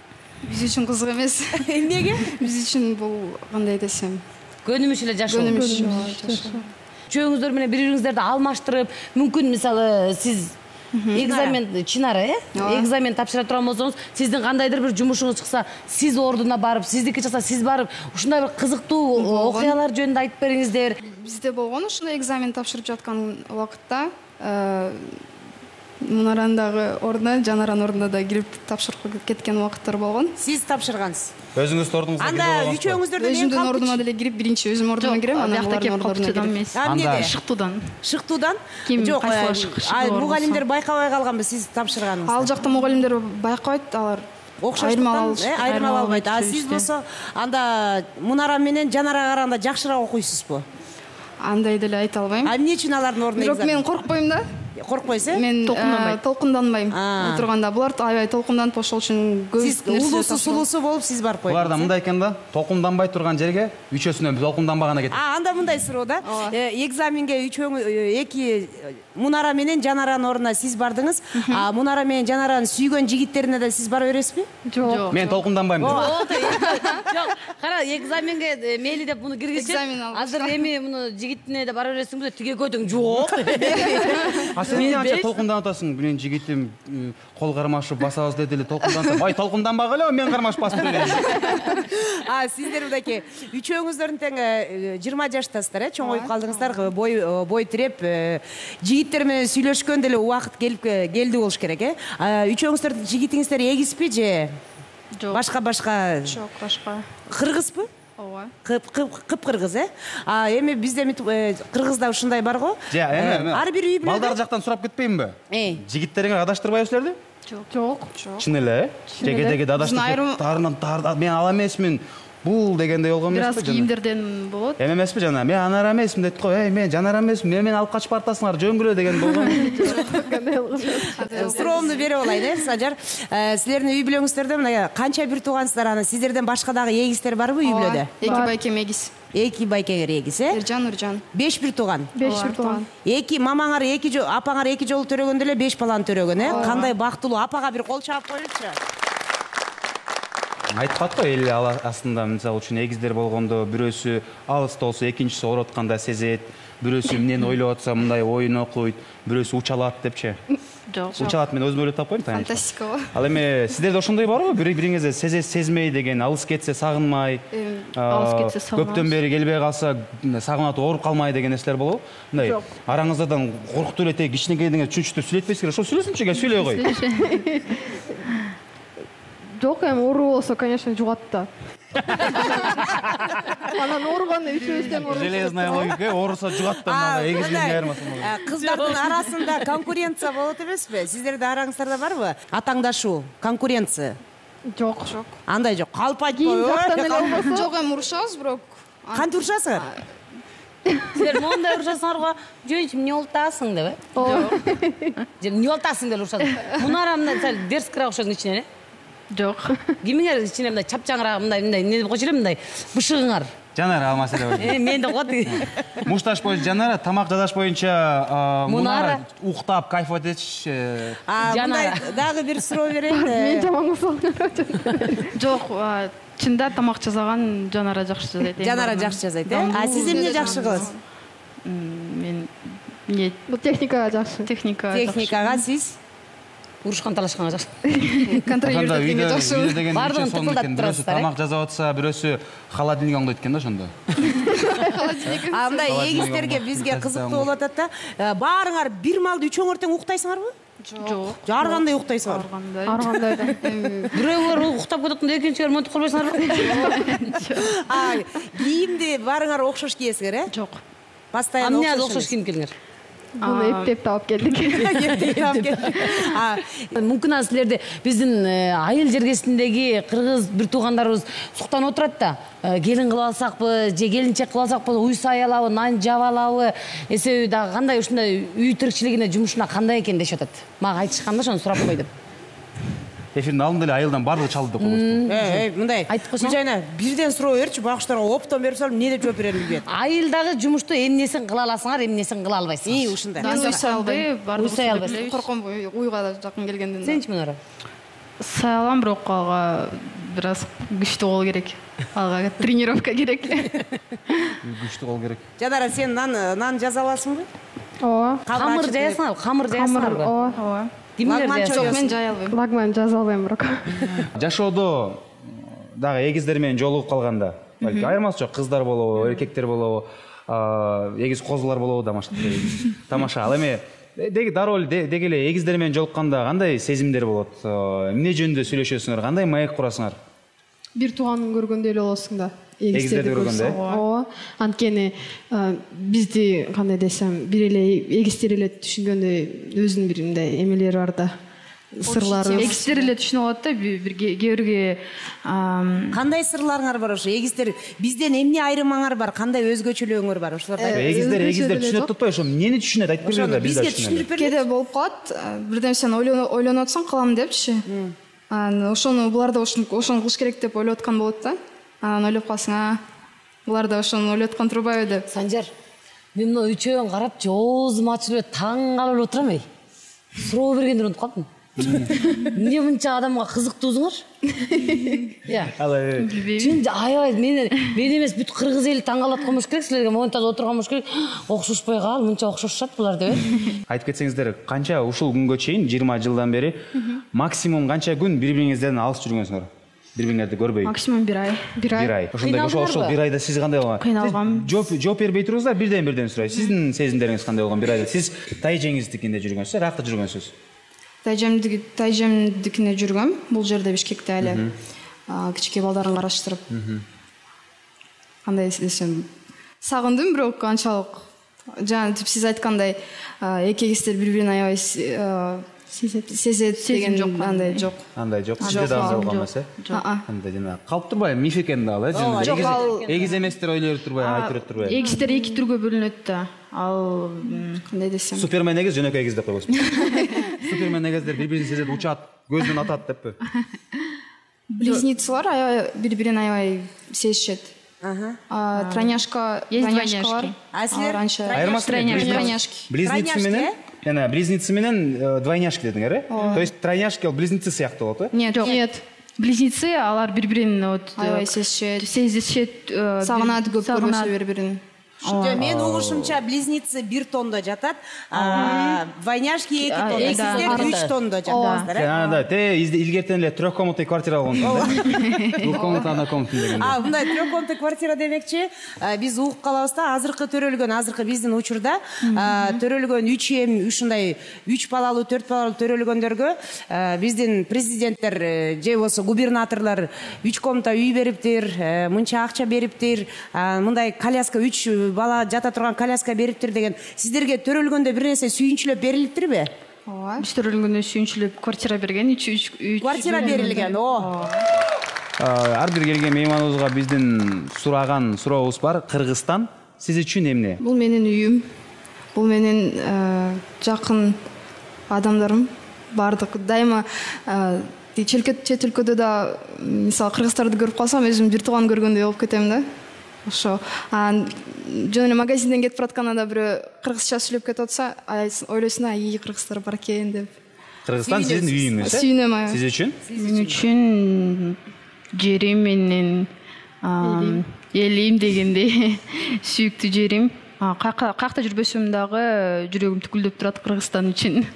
Биз үчүн кызык эмес. Эмнеге? Биз үчүн бул кандай десем, Көнүмүш эле жашоо. көнүмүш. Үчөөңүздөр менен бири-бириңиздерди алмаштырып, мүмкүн мисалы сиз экзамен Чынара, э? Экзамен тапшыра турган болсоңуз, сиздин кандайдыр бир жумушуңуз чыкса, сиз ордуна барып, сиздики чыкса, сиз барып, ушундай бир кызыктуу окуялар жөнүндө айтып бериңиздер. Бизде болгон ушундай экзамен тапшырып жаткан убакытта Мунаранын дагы ордуна, Жанаранын ордуна да кирип тапшырып кеткен убакыттар болгон. Сиз тапшыргансыз. Өзүңүздүн ордуңузга кирип Анда алгансызбы? үчөөңүздөрдөн эң Өзүмдүн калп ордума деле кирип, биринчи өзүм ордума кирем, анан булардын ордуна кирем. Анда Шыктуудан. Шыктуудан? Ким Жок, кайсылар шыктуу мугалимдер байкабай калганбы сиз тапшырганыңызды? Ал жакта мугалимдер байкабайт, алар Окшоштуктан айырмалап албайт. А сиз болсо анда Мунара менен Жанарага караганда жакшыраак окуйсузбу? Андай деле айта албайм. А эмне үчүн алардын ордуна Бирок мен коркпойм да. Коркпойсуз, э? Мен толкунданбайм. Отурганда булар аябай толкунданып, ошол үчүн көп Сиз улуусу сулуусу болуп сиз барып койдуңуз. Буларда мындай экен да, толкунданбай турган жерге үчөөсүнөн толкунданбаган экен. А, анда мындай суроо да. Экзаменге үчөөңүз эки Мунара менен Жанаранын ордуна сиз бардыңыз, а Мунара менен Жанаранын сүйгөн жигиттерине да сиз бара бересизби? Жок. Мен толкунданбайм деп. Жок, кара, экзаменге мейли деп муну киргизет. Экзамен алып. Азыр эми муну жигитине да бара бересиңби? Тиге көтүң жок. А сен эмне анча толкунданып атасың? Менин жигитим кол кармашып басабыз деди эле толкунданып. Бай толкунданбагыла, мен кармашып басып берейин. А сиздер мындай үчөөңүздөрдүн тең жыйырма жаштасыздар, э? Чоңоюп калдыңыздар, бой бой тиреп, жигиттер менен сүйлөшкөн деле убакыт келип келди болуш керек, э? Үчөөңүздөрдүн жигитиңиздер эгизби же? Жок. Башка-башка? Жок, башка. Кыргызбы? Ооба. Кып-кыргыз, э? А эми бизде Кыргызда ушундай бар го. Эми ар бир үй бүлөдө балдар жактан сурап кетпейминби? Жигиттериңер адаштырбайбы силерди? Жок. Чын эле, э? Жеге-деге адаштырып тарынан мен ала эмесмин. Бул дегендей болгон эмеспи? Бираз кийимдерден болот. Эме эмеспи жана? Мен анара эмесмин дейт го. Эй, мен жанара эмесмин. Мен мени алып качып бартасыңар, жөнгүлө деген болгон. Суроомду берип алайын, э, Сажар. Силердин үй бүлөңүздөрдө мына канча бир туугансыздар, аны сиздерден башка дагы эгиздер барбы үй бүлөдө? Эки байкем эгиз. Эки байкеңер эгиз, э? Эржан, Нуржан. Беш бир тууган. Беш бир тууган. Эки мамаңар эки жолу, апаңар эки жолу төрөгөндө эле беш баланы төрөгөн, э? Кандай бактылуу. Апага бир кол чаап коелучу. Айтып кат го, эл астында мисалы үчүн эгиздер болгондо бирөөсү алыста болсо, экинчиси ооруп атканда сезет, бирөөсү эмнени ойлоп атса мындай оюн окуйт, бирөөсү учалат депчи. Жок. Учалат мен өзүм ойлоп таппайм, таня. Фантастика го. Ал эми сиздерде ошондой барбы? Бири-бириңизди сезе сезмей деген, алыс кетсе сагынмай, алыс кетсе сагынабыз. Көптөн бери келбей калса сагынат ооруп калмай деген нерселер болобу? Мындай араңыздардан коркуктуу эле тег кичинекей деген түшүнчүктөр сүйлөтпөйсүңөр. Ошо сүйлөсүнчү, кел сүйлөй кой. Жок, эми оору болсо, конечно, жугат да. Анан ооруганда үчөөбүздөн ооруп. Железная логика, ооруса жугат да, мына эгизден айырмасы болот. Кыздардын арасында конкуренция болот эмеспи? Сиздердин араңыздарда барбы? Атаңдашуу, конкуренция. Жок, жок. Андай жок. Калп Кийин жактан эле айтпой. болбосо. Жок, эми урушабыз, бирок. Кантип урушасыңар? Силер моундай урушасыңар го, жөнчү эмне болуп атасың деп, э? Ооба. Же эмне болуп атасың деп урушасың. Мунара мындай сал дерзкирээк окшосуң ичинен, э? Жок. Кимиңер ичинен мындай чапчаңыраак мындай мындай эмне деп койчу эле мындай бышыгыңар. Жанара ал маселе бар. Э, мен деп коет. Мушташ боюнча Жанара, тамак жасаш боюнча Мунара Мунара. уктап кайфовать этчи. Мындай дагы бир суроо берейин. Мен жаман болсом. Жок, чында тамак жасаган Жанара жакшы жасайт. Жанара жакшы жасайт, э? А сиз эмне жакшы кыласыз? Мен эмне Бул техникага жакшы. техника. Техникага сиз? Урушкан талашканга жакшы. Контролировать эткенге жакшы. Видео деген Бардығын үчөө сонун тыкылдатып экен. Бирөөсү турасыздар, э? тамак жасап атса, бирөөсү холодильник оңдойт экен да ошондо. А мындай эгиздерге бизге кызыктуу болуп атат да. Баарыңар бир маалда үчөөңөр тең уктайсыңарбы? Жок. Ар кандай уктайсыңар? Аргандай. Ар кандай да. Бирөөлөр уктап кетип, экинчилер монтип калбайсыңарбы? А кийимди баарыңар окшош кийесиңер, э? Жок. Постоянно Эмне окшош кийим келиңер? Буну эптеп таап келдик. Мүмкүн анан силерде биздин айыл жергесиндеги кыргыз бир туугандарыбыз суктанып отурат да. Келин кылып алсакпы, же келинчек кылып алсакпы, уй саялабы, нан жаба алабы, эсеби дагы кандай ушундай үй тиричилигине, жумушуна кандай экен дешип атат. Мага айтышкан да, ошону сурап кой деп. Эфирдин алдында эле айылдан баардыгы чалды деп коебузбу? Эй, мындай. Айтып койсоң. Жайна бирден суроо берчи, багыштарга оптон берип салып, эмне деп жооп берерин билбейт. Айылдагы жумушту эмнесин кыла аласыңар, эмнесин кыла албайсыңар. И, ушундай. Мен уй салбай, Уй сая албайсың. Корком уйга да жакын келгенден. Сенчи Мунара? Сая алам, бирок ага бираз күчтүү болуу керек. Ага тренировка керек. Күчтүү кол керек. Жанара, сен нан нан жаза аласыңбы? Ооба. Камыр жаясыңарбы? Камыр жаясыңарбы? Ооба. Ооба. Кимдер Лагман жаясыңар? Жок, мен жая албайм. Лагман жаза албайм бирок. Жашоодо дагы эгиздер менен жолугуп калганда, балки айырмасы жок, кыздар болобу, эркектер болобу, эгиз козулар болобу, тамаша. Ал эми деги дароо эле деги эле эгиздер менен жолукканда кандай сезимдер болот? Эмне жөнүндө сүйлөшөсүңөр? Кандай маек курасыңар? Бир тууганын көргөндөй эле болосуң да. Эгиздерди көргөндө, э? Ооба. Анткени бизди кандай десем, бир эле эгиздер эле түшүнгөндөй өзүнүн бир мындай эмелери бар да. Сырлары. Эгиздер эле түшүнүп алат да, бир кээ бирге Кандай сырларыңар бар ошо? Эгиздер бизден эмне айырмаңар бар? Кандай өзгөчөлүгүңөр бар? Ошолорду Эгиздер эгиздер түшүнөт атпайбы? Ошо эмнени түшүнөт? Айтып бербейби да, бизге түшүндүрүп берди. кээде болуп калат, бир нерсени ойлонуп атсаң кылам депчи. Анан ошону булар да ошону кылыш керек деп ойлоп аткан болот да. Анан ойлоп калсаң, а булар да ошону ойлоп аткан турбайбы деп. Санжар, мен мына үчөөң карап, жоозум ачылып таң калып отурам эй. Суроо бергендер унутуп калдым. Эмне мынча адамга кызыктуусуңар? Я. Чын аябай мен мен эмес бүт кыргыз эли таң калат болмош керек, силерге монтажда отурган болмош керек. Окшошпой кал, мынча окшошушат булар деп. Айтып кетсеңиздер, канча ушул күнгө чейин жыйырма жылдан бери максимум канча күн бири-бириңизден алыс жүргөнсүңөр? Бири-бириңерди көрбөй. Максимум бир ай. бир ай. Бир ай. Ошондой ошол ошол бир айда сиз кандай болгон? Кыйналгам. Жооп жооп бербей туруңуздар, бирден-бирден сурайт. Сиздин сезимдериңиз кандай болгон бир айда? Сиз тайжеңиздикинде жүргөнсүз, ракта жүргөнсүз? Тайжемдики тайжемдикине жүргөм. Бул жерде Бишкекте эле кичике балдарын караштырып. Кандай десем, сагындым, бирок анчалык жана сиз айткандай эки эгиздер бири-бирин аябай сезет сезет деген андай жок. Андай жок. Сизде да андай болгон эмес, э? Андай жана калып турбайбы? Миф экен да ал, э? Жок, ал эгиз эместер ойлоп турбайбы, айтып берет турбайбы? Эгиздер эки түргө бөлүнөт да. Ал кандай десем, Супермен эгиз, жөнөкөй эгиз деп койбосун. Супермен эгиздер бири-бирин сезет, учат, көздөн атат деппи? близнецалар аябай бири-бирин аябай сезишет. Ага. Тройняшка, тройняшкалар. А силер? Айырмасы Тройняшки. Близнецы менен, жана близнецы менен двойняшки дедиңер, э? То есть тройняшки ал близнецы сыяктуу болот, э? Нет, Нет. Близнецы, алар бири-бирин вот аябай сезишет. сезишет, Сагынат көп көрбөсө бири-бирин. Мен угушумча близнецы бир тондо жатат, двойняшки эки тондо, сиздер үч тондо жатасыздар, э? Анда те илгертен эле трехкомнатный квартира алгансыздар. Двухкомнатный однокомнатный деген. А, мындай трехкомнатный квартира демекчи, биз угуп калабыз да, азыркы төрөлгөн, азыркы биздин учурда төрөлгөн үч эм, ушундай үч балалуу, төрт балалуу төрөлгөндөргө биздин президенттер же болсо губернаторлор үч комната үй бериптир, мынча акча бериптир, мындай коляска үч бала жата турган коляска бериптир деген. Сиздерге төрөлгөндө бир нерсе сүйүнчүлөп берилиптирби? Ооба. Биз төрөлгөндө сүйүнчүлөп квартира берген, үч үч Квартира берилген. О. Ар бир келген мейманыбызга биздин сураган сурообуз бар. Кыргызстан сиз үчүн эмне? Бул менин үйүм. Бул менин жакын адамдарым. Бардык дайыма чет өлкөдө да мисалы кыргыздарды көрүп калсам, өзүм бир тууган көргөндөй болуп кетем да. Ошо. Жөн эле магазинден кетип баратканда бирөө кыргызча сүйлөп кетип атса, ойлойсуң, ай, кыргыздар бар экен деп. Кыргызстан сиздин үйүңүз, э? Сүйүнөм, ай. Сиз үчүн? Мен үчүн жерим менен элим дегендей сүйүктүү жерим. Каякта жүрбөсөм дагы жүрөгүм түкүлдөп турат Кыргызстан үчүн.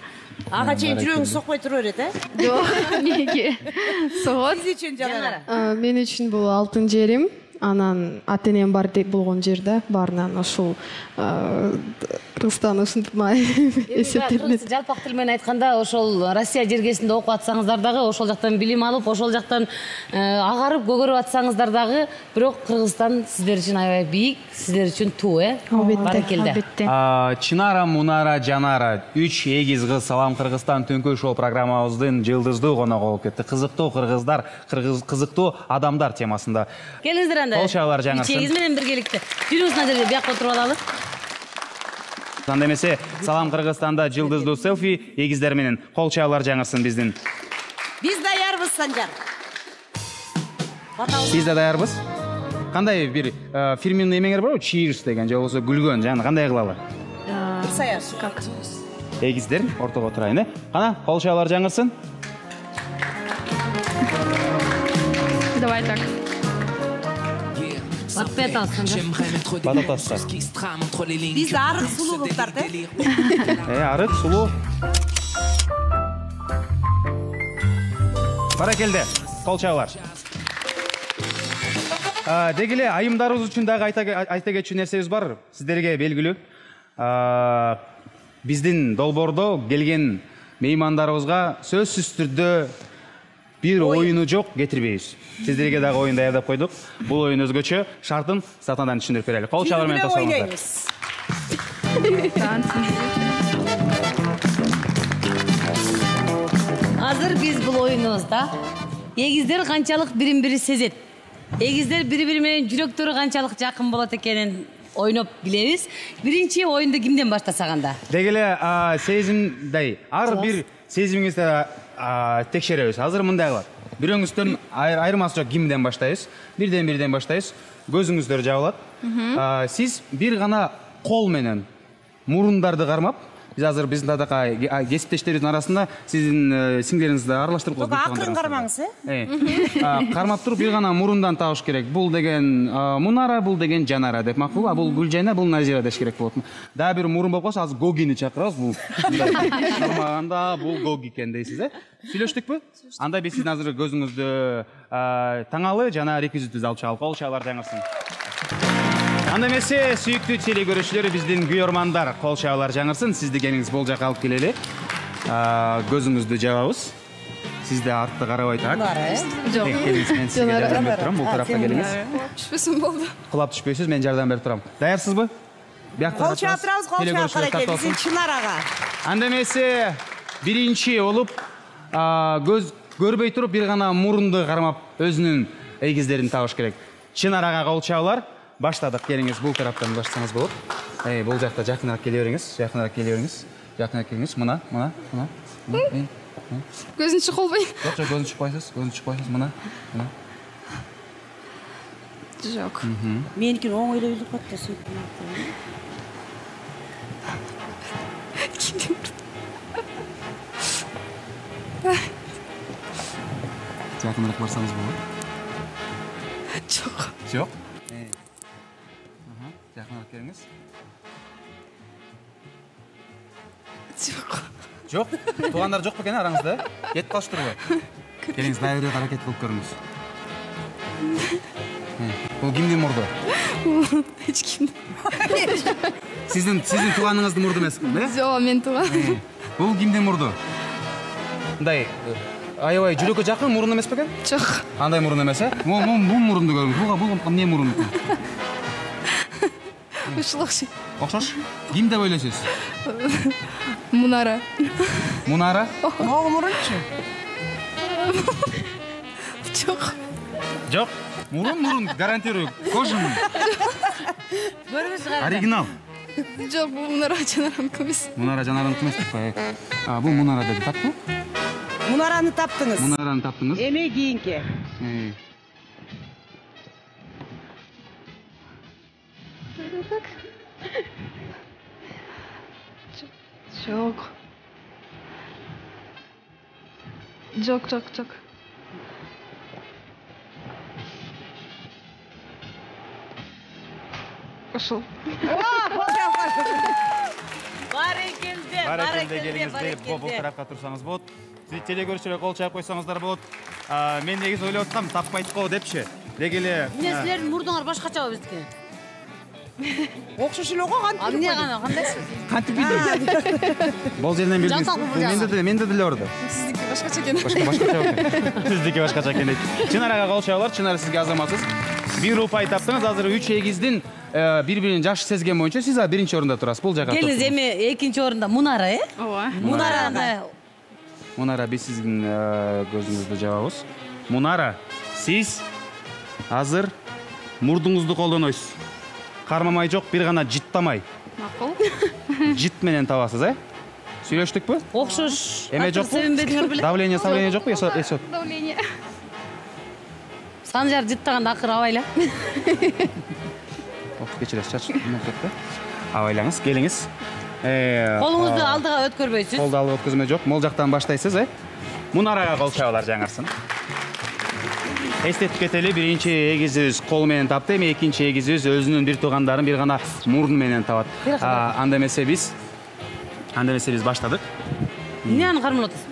Ага чейин жүрөгүң сокпой тура берет, э? Жок, эмнеге? Согот. Сиз үчүн Жанара? Мен үчүн бул алтын жерим. Анан ата-энем бар деп болгон жерде баарынан ошол Кыргызстан ушинтип эсептелет. Жалпак тил менен айтканда, ошол Россия жергесинде окуп атсаңыздар дагы, ошол жактан билим алып, ошол жактан агарып көгөрүп атсаңыздар дагы, бирок Кыргызстан сиздер үчүн аябай бийик, сиздер үчүн туу, э? Баракелде. Чынара, Мунара, Жанара, үч эгиз кыз Салам Кыргызстан Түнкү шоу программабыздын жылдыздуу коногу болуп кетти. Кызыктуу кыргыздар, кызыктуу адамдар темасында. Келиңиздер анда. Кол чабуулар жаңырсын. Үч эгиз менен биргеликте. Жүрүңүз мына жерге биякка отуруп алалы. Анда эмесе Салам Кыргызстанда жылдыздуу селфи эгиздер менен кол чабуулар жаңырсын биздин. Биз даярбыз, Санжар. Биз да даярбыз. Кандай бир фирменный эмеңер барбы? Cheers деген же болбосо күлгөн, жана кандай кылалы? Бир саяш. Как? Эгиздер ортого отурайын, э? Кана, кол чабуулар жаңырсын. Давай так. Батпай атасың, да? Бат атасың. Биз арык сулуу кыздар, да? Э, арык сулуу. Баракелде, кол чабуулар. Деги эле айымдарыбыз үчүн дагы айта кетчү нерсебиз бар. Сиздерге белгилүү. Биздин долбоордо келген меймандарыбызга сөзсүз түрдө бир оюну жок кетирбейбиз. Сиздерге дагы оюн даярдап койдук. Бул оюн өзгөчө, шартын сатадан түшүндүрүп берели. Кол чабуулар менен тосолуңуздар. Азыр биз бул оюнубузда эгиздер канчалык бирин-бири сезет, эгиздер бири-бири менен жүрөктөрү канчалык жакын болот экенин ойноп билебиз. Биринчи оюнду кимден баштасак анда? Деги эле сезимдей ар бир сезимиңизди текшеребиз. Азыр мындай кылат. Бирөөңүздөн айырмасы жок, кимден баштайбыз? Бирден бирден баштайбыз. Көзүңүздөр жабылат. Сиз бир гана кол менен мурундарды кармап, Биз азыр биздин тадакай кесиптештерибиздин арасында сиздин сиңдериңизди аралаштырып коебуз. Акырын кармаңыз, э? Кармап туруп бир гана мурундан табыш керек. Бул деген Мунара, бул деген Жанара деп макул. А бул Гүлжайна, бул Назира деш керек болот. Дагы бир мурун болуп калса, азыр Гогини чакырабыз. Бул кармаганда бул Гоги экен дейсиз, э? Сүйлөштүкпү? Анда биз сиздин азыр көзүңүздү таңалы жана реквизитибизди алып чыгалып, кол чабуулар жаңырсын. Анда эмесе, сүйүктүү теле көрүүчүлөр, биздин күйөрмандар, кол чабуулар жаңырсын. Сизди кеңиңиз бул жака алып келели. Көзүңүздү жабабыз. Сиз да артты карабай так. Жок. Келиңиз, мен сизге жардам берип турам. Бул тарапка келиңиз. Түшпөсүн болду. Кулап түшпөйсүз, мен жардам берип турам. Даярсызбы? Кол чабып турабыз, кол чабып каракет. Биздин Чынар ага. Анда эмесе, биринчи болуп көз көрбөй туруп бир гана мурунду кармап өзүнүн эгиздерин табыш керек. Чынар ага кол чабуулар. Баштадык. Келиңиз, бул тараптан баштасаңыз болот. Эй, бул жакта жакыныраак келе бериңиз. Жакыныраак келе бериңиз. Жакыныраак келиңиз. Мына, мына, мына. Көзүн чыкпайбы? Жок, жок, көзүн чыкпайсыз. Көзүн чыкпайсыз. Мына, мына. Жок. Меникин оңойлой билип калды да сөйттүм. Жакыныраак барсаңыз болот. Жок. Жок. Жакыныраак келиңиз. Жок. Жок. Туугандар жок бекен араңызда? Кетип калыштырбы? Келиңиз, дагы бир аракет кылып көрүңүз. Бул кимдин мурду? Эч кимдин. Сиздин сиздин тууганыңыздын мурду эмеспи? Жок, мен тууган. Бул кимдин мурду? Мындай аябай жүрөккө жакын мурун эмес бекен? Жок. Андай мурун эмес, э? Бул бул мурунду көрүңүз. Буга бул эмне мурун? Ушул окшойт. Окшош? Ким деп ойлойсуз? Мунара. Мунара? Могу мурунчу? Жок. Жок. Мурун мурун, гарантирую. Кожаный. Көрүңүз кайда? Оригинал. Жок, бул Мунара Жанараныкі эмес. Мунара Жанараныкі эмес деп коелу. А, бул Мунара деди, таптыңбы? Мунараны таптыңыз. Мунараны таптыңыз. Эме кийинки. Жок. Жок, жок, жок. Ошол. Барекелде, Барекелде келиңиз, бул тарапка турсаңыз болот. Сиз теле көрүүчүлөр кол чаап койсоңуздар болот. Мен негизи ойлоп аткам, таппайт го депчи. Деги эле. Эмне силердин мурдуңар башкачабы биздики? Окшош эле го, кантип? А эмне гана, кандайсыз? Кантип билдиңиз? Бул жерден билдиңиз. Менде де, менде деле орду. Сиздики башкача экен. Башка башкача экен. Сиздики башкача экен дейт. Чынар ага кол чабуулар, Чынар сизге азаматсыз. Бир упай таптыңыз, азыр үч эгиздин бири-бирин жакшы сезген боюнча сиз биринчи орунда турасыз. Бул жака. Келиңиз, эми экинчи орунда Мунара, э? Ооба. Мунара. Мунара, биз сиздин көзүңүздү жабабыз. Мунара, сиз азыр мурдуңузду колдонойсуз. Кармамай жок, бир гана жыттамай. Макул. Жыт менен табасыз, э? Сүйлөштүкпү? Окшош. Эме жокпу? Себенбедиңер беле? Давление, давление жокпу? Эсот. Давление. Санжар жыттаганда акыр абайла. Кечиресиз, чач. Абайлаңыз, келиңиз. Колуңузду алдыга өткөрбөйсүз. Колду алып өткөзмө жок. Мол жактан баштайсыз, э? Мунарага кол чабуулар жаңырсын. Эстетип кетели, биринчи эгизибиз кол менен тапты, эми экинчи эгизибиз өзүнүн бир туугандарын бир гана мурун менен табат. Анда эмесе биз Анда эмесе биз баштадык. Эмне аны кармалап атасыз?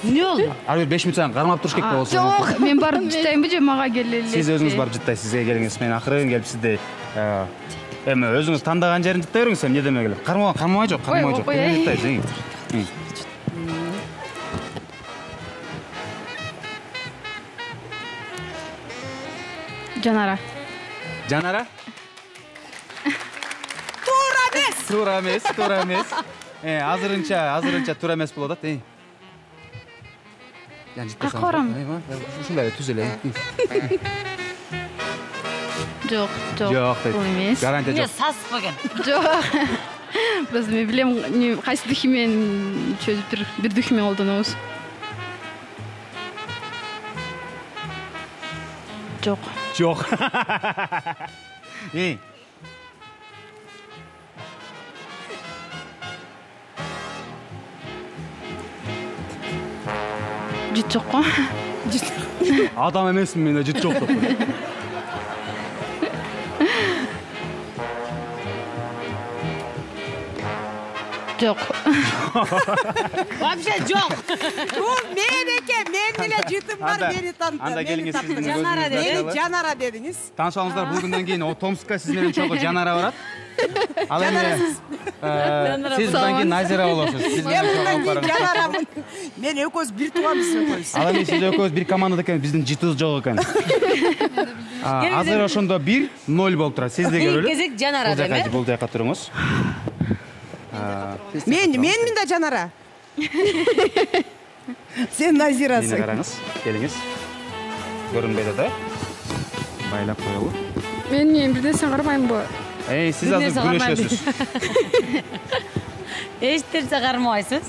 Эмне болду? Ар бир беш мүнөт сайын кармап туруш керек болсо. Жок, мен барып жыттайынбы же мага келели? Сиз өзүңүз барып жыттайсыз, сизге келиңиз. Мен акырын келип сизди эми өзүңүз тандаган жерин жыттай бериңиз, эмне демек эле. Кармаа, кармабай жок, кармабай жок. Жыттайсыз. Жанара. Жанара? Туура эмес. Туура эмес, туура эмес. Э, азырынча, азырынча туура эмес болуп атат, э. Какка барам? Ушундай түз эле. Жок, жок. Жок дейт. Бул эмес. Гарантия Эмне жок. сасып экен? Жок. Биз мен билем, кайсы духи менен чөзүп бир бир духи менен колдонобуз. Жок. Жок. Эй. жыт жокко. Адам эмесмин мен, жыт жок деп коет. Жок. Вообще жок. Бул мен экен, мен эле жытым бар, Анда- мени танытты. анда келиңиз, сиздин Жанара көзүңүздө деп. Мени ачылып. Жанара дедиңиз. Таанышканыңыздар, бул күндөн кийин Томскка сиз менен чогуу Жанара барат. Ал эми э, сиз мындан кийин Назира болосуз. Сиз Мен менен мындан чогуу кийин барыңыз. Жанарамын. Мен экөөбүз бир тууганбыз экөөбүз. Ал эми сиз экөөбүз бир командада экен, биздин жытыбыз жок экен. А, Азыр ошондо бир ноль болуп турат. Сиз да Кийинки көрөлү. кезек Жанара Бул деп, жака, э? бул жака туруңуз. А, Мен менмин да Жанара. Сен Мени Назирасың. караңыз, келиңиз. Көрүнбөйт да? Байлап коелу. Мен эмне бир нерсе кармаймынбы? Эй, сиз Бир азыр нерсе кармайм күрөшөсүз. Эч нерсе кармабайсыз.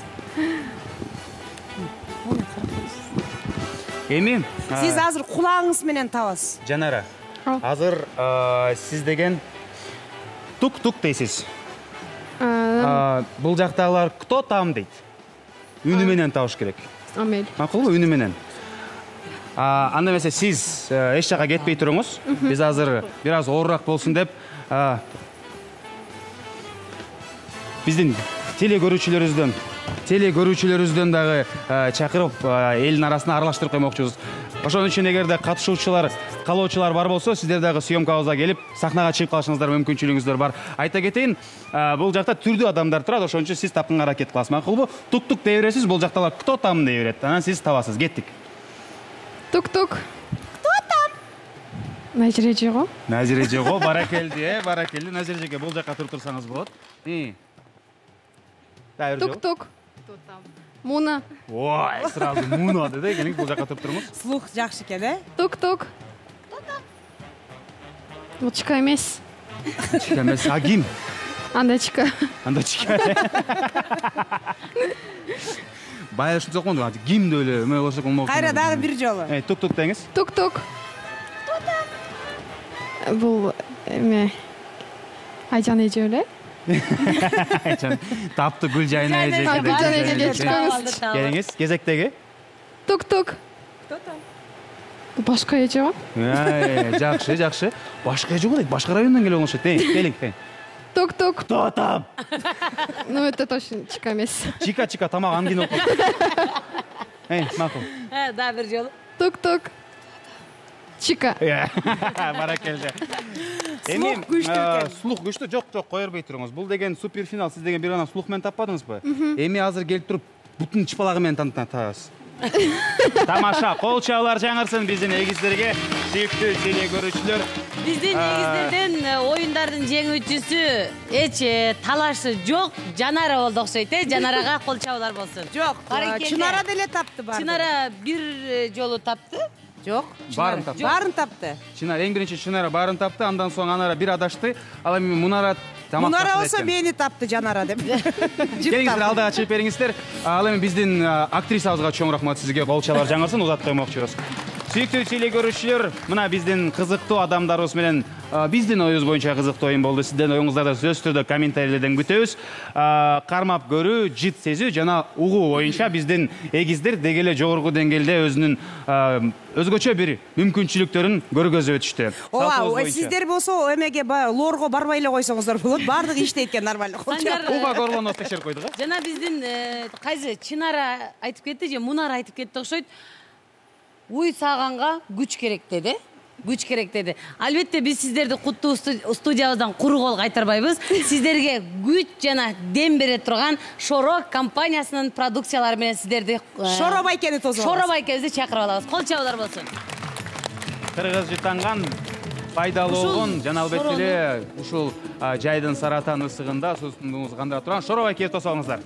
Эми а, Сиз азыр кулагыңыз менен табасыз. Жанара, азыр а, сиз деген тук-тук дейсиз. А, Бул жактагылар кто там дейт. Үнү менен табыш керек. Амел. Макулбу, үнү менен. А, анда эмесе сиз э, эч жака кетпей туруңуз. Биз азыр бир аз оорураак болсун деп а, биздин теле көрүүчүлөрүбүздөн теле көрүүчүлөрүбүздөн дагы а, чакырып а, элдин арасына аралаштырып коймокчубуз. Ошон үчүн эгерде катышуучулар, каалоочулар бар болсо, сиздер дагы съемкабызга келип, сахнага чыгып калышыңыздар мүмкүнчүлүгүңүздөр бар. Айта кетейин, а, бул жакта түрдүү адамдар турат, ошон үчүн сиз тапканга аракет кыласыз. Макулбу? Тук-тук дей бересиз, бул жакталар кто там дей берет. Анан сиз табасыз. Кеттик. Тук-тук. Кто там? Назиреже го. Назиреже го, баракелди, э, баракелди. Назирежеге бул жака туруп турсаңыз болот. И. Дайыр жок. Тук-тук. Кто там? Муна. Ой, сразу муна деди, келиңиз бул жака туруп туруңуз. Слух жакшы экен, э? Тук-тук. Бул чика эмес. Чика эмес, а ким? Анда чика. Анда чика. Бая ушинтип окумадым, ким деп эле эме болсок болмок. Кайра дагы бир жолу. Эй, тук-тук деңиз. Тук-тук. Бул эме Айжан эже эле. Айчан тапты Гүлжайна эже. Гүлжайна эжеге чыкканбыз. Келиңиз, кезектеги. Тук-тук. Кто там? Башка эже го. Ай, жакшы, жакшы. Башка эже го дейт, башка райондон келип болушат. Эй, келиң. Тук-тук. Кто там? Ну это точно чика эмес. Чика-чика тамак ангин окуп. Эй, макул. Э, да, бир жолу. Тук-тук. Чика. Баракелди. Слух күчтүү экен. Слух күчтүү, жок, жок, кое бербей туруңуз. Бул деген суперфинал, сиз деген бир гана слух менен таппадыңызбы? Эми азыр келип туруп бутун чыпалагы менен танытабыз. Тамаша, кол чабуулар жаңырсын биздин эгиздерге, сүйүктүү теле көрүүчүлөр. Биздин эгиздерден оюндардын жеңүүчүсү эч э, талашы жок, Жанара болду окшойт, э? Жанарага кол чабуулар болсун. Жок, Баракелде. Чынара деле тапты барды. Чынара бир э, жолу тапты. Жок, Баарын тапты. Баарын тапты. Чынар эң биринчи Чынара баарын тапты, андан соң Анара бир адашты. Ал эми Мунара тамак Мунара тапты болсо экен. мени тапты Жанара деп. Келиңиздер, алдыга чыгып бериңиздер. Ал эми биздин а, актрисабызга чоң рахмат сизге, кол чабуулар жаңырсын, узатып коймокчубуз. Сүйүктүү теле көрүүчүлөр, мына биздин кызыктуу адамдарыбыз менен а, биздин оюбуз боюнча кызыктуу оюн болду. Сиздердин оюңуздарды сөзсүз түрдө комментарийлерден күтөбүз. А, кармап көрүү, жыт сезүү жана угуу боюнча биздин эгиздер деги эле жогорку деңгээлде өзүнүн а, өзгөчө бир мүмкүнчүлүктөрүн көргөзүп өтүштү. Ооба, сиздер болсо эмеге лорго барбай эле койсоңуздар болот. Баардыгы иштейт экен нормально. Санжар, Уга горлонуп текшерип койдук, э? жана биздин э, кайсы Чынара айтып кетти же Мунара айтып кетти окшойт. Уй саганга күч керек деди. Күч керек деди. Албетте биз сиздерди куттуу студиябыздан куру кол кайтарбайбыз. Сиздерге күч жана дем бере турган Шоро компаниясынын продукциялары менен сиздерди Шоро байкени тосуп алабыз. Шоро байкебизди чакырып алабыз. Кол чабуулар болсун. Кыргыз жытанган пайдалуу болгон жана албетте эле ушул а, жайдын саратан ысыгында суусундугубузду кандыра турган Шоро байкебизди тосуп алыңыздар.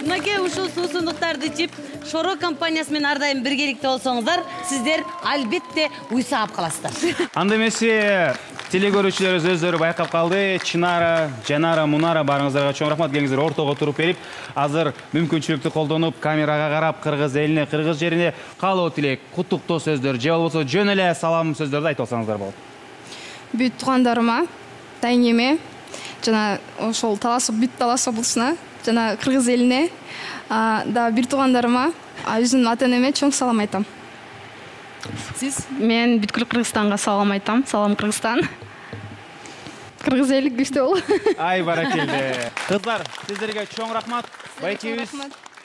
Мынакей ушул суусундуктарды ичип, Шоро компаниясы менен ар дайым биргеликте болсоңуздар, сиздер албетте уйсаап каласыздар. Анда эмесе теле көрүүчүлөрүбүз өздөрү байкап калды. Чынара, Жанара, Мунара барыңыздарга чоң рахмат. Келиңиздер, ортого туруп берип, азыр мүмкүнчүлүктү колдонуп, камерага карап, кыргыз элине, кыргыз жерине каалоо тилек, куттуктоо сөздөр же болбосо жөн эле салам сөздөрдү айтып алсаңыздар болот. Бүт туугандарыма, тайнеме, жана ошол талас бүт талас облусуна, жана кыргыз элине, да бир туугандарыма өзүмдүн ата энеме чоң салам айтам. Сиз? Мен бүткүл Кыргызстанга салам айтам. Салам Кыргызстан. Кыргыз эли күчтүү болу. Ай баракелде. Кыздар, сиздерге чоң рахмат. Байкебиз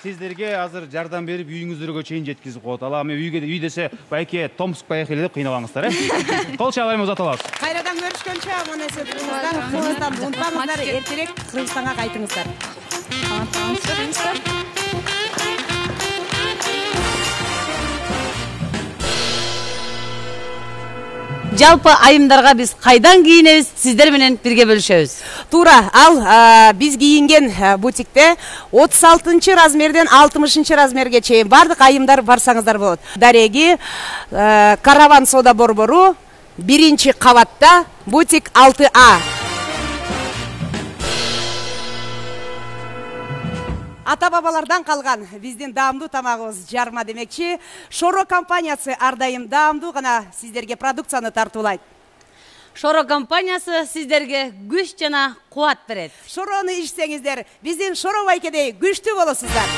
сиздерге азыр жардам берип үйүңүздөргө чейин жеткизип коет. Ала эми үйгө үй десе байке Томск поехали деп кыйнабаңыздар, э? Кол чабайм узата алабыз. Кайрадан көрүшкөнчө аман эсен туруңуздар. Кыргызстанды унутпаңыздар, эртерээк Кыргызстанга кайтыңыздар. Жалпы айымдарга биз кайдан кийинебиз, сиздер менен бирге бөлүшөбүз. Туура, ал биз кийинген бутикте отуз алтынчы размерден алтымышынчы размерге чейин бардык айымдар барсаңыздар болот. Дареги Караван соода борбору биринчи кабатта, бутик алты А. Ата бабалардан калган биздин даамдуу тамагыбыз жарма демекчи. Шоро компаниясы ар дайым даамдуу гана сиздерге продукцияны тартуулайт. Шоро компаниясы сиздерге күч жана кубат берет. Шорону ичсеңиздер, биздин Шоро байкедей күчтүү болосуздар.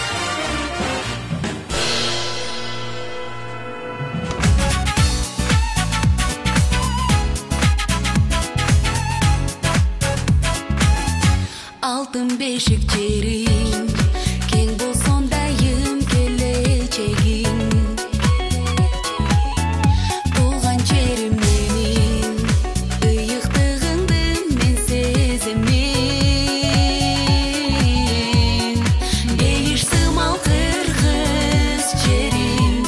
Алтын бешик жерим, кең болсоң дайым келечегим. Туулган жерим менин, ыйыктыгыңды мен сеземин. Бейиш сымал кыргыз жерим,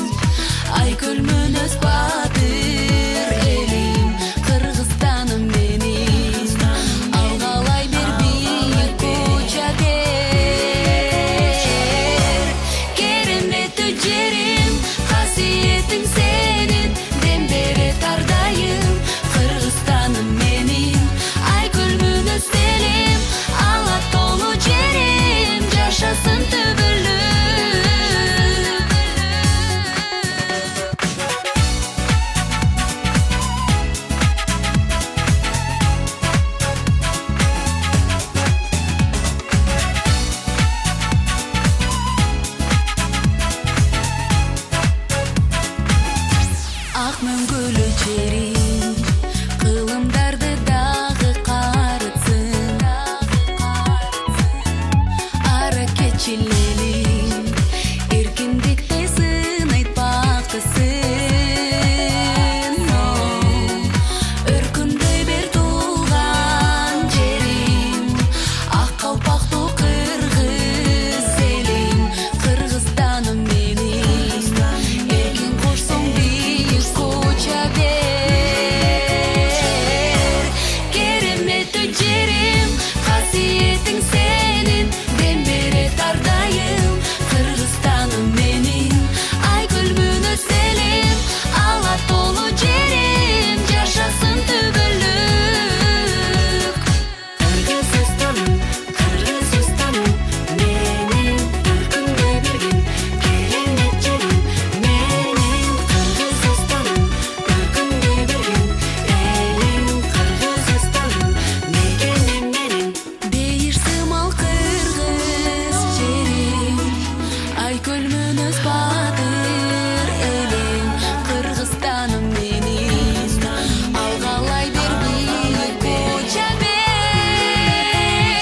Айкөл мөнөз батыр элим. Кыргызстаным менин, алгалай бер бийик куча бер. Кереметтүү жерим, касиетиң сенин, дем берет ар дайым. Кыргызстаным менин, Айкөл мөнөз элим, ала толуу жерим, жашасын түбөлүк. Ак мөңгөлүү жерим, кылымдарды дагы карытсын. Аракетчил элим, эркиндикте сынайт бактысын. Өркүндөй бер туулган жерим, ак калпактуу кыргыз элим. Кыргызстаным менин, эркин кошсоң бийик куча бер. Кереметтүү жерим, касиетиң сенин, дем берет ар дайым. Кыргызстаным менин, Айкөл мөнөз элим, ала толуу жерим, жашасын түбөлүк. Кыргызстаным, Кыргызстаным менин, өркүндөй берген керемет жерим менин. Кыргызстаным, өркүндөй берген элим. Кыргызстаным мекеним менин, бейиш сымал кыргыз жерим, Айкөл мөнөз батыр элим. Кыргызстаным менин, алгалай бер бийик куча бер.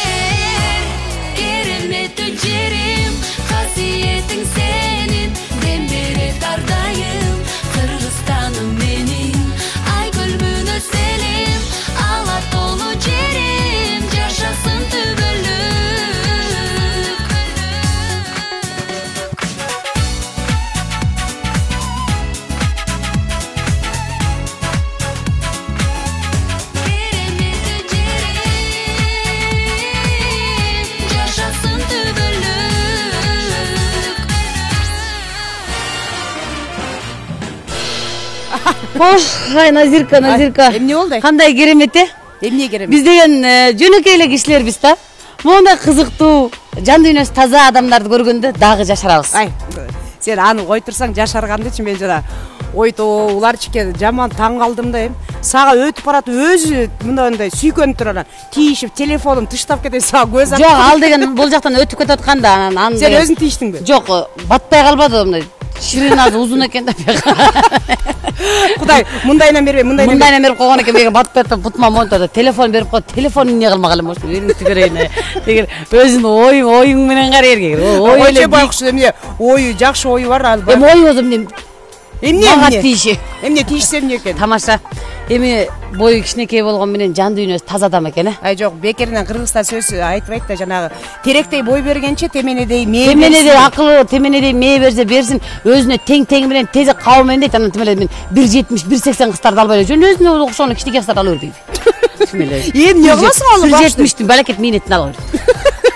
Кереметтүү жерим, касиетиң сенин, дем берет ар дайым. Кыргызстаным менин, Айкөл мөнөз элим, ала толуу жерим, жашасын түбөлүк. Кереметтүү жерим, жашасын түбөлүк. Хош, ай Назирка, Назирка. Эмне болду? Кандай керемет э? Эмне керемет? Биз деген жөнөкөй эле кишилербиз да. Мондай кызыктуу, жан дүйнөсү таза адамдарды көргөндө дагы жашарабыз. Ай, сен аны кой турсаң жашаргандычы мен жана ойто уларчике жаман таң калдым да эми сага өтүп баратып өзү мындай мындай сүйкөнүп туруп анан тийишип телефонун тыштап кетет сага көз жок ал деген бул жактан өтүп кетип аткан да анан аны сен өзүң тийиштиңби жок батпай калбады мындай ширинасы узун экен да кудай мындайынан бербей мындайынан мындайынан берип койгон экен мега батпай атып бутума монтода телефон берип коет телефонун эмне кылмак элем ошо эми түгөрөйүн деген өзүнүн ою оюң менен кара эркек ой эле байкуш эмне ою жакшы ою бар ал эми ой болсо эмне эмне мага тийиши эмне тийишсе эмне экен тамаша эми бою кичинекей болгон менен жан дүйнөсү таза адам экен э ай жок бекеринен кыргызстан сөз айтпайт да жанагы теректей бой бергенче теменедей мээ теменедей акылы теменедей мээ берсе берсин өзүнө тең тең менен тезек кабы менен дейт анан тим эле мен бир жетимиш бир сексен кыздарды албай эле жөн өзүнө окшогон кичинекей кыздарды ала бербейби тим эле эмне кыласың ал бир жетимиштин балакет мээнетин ала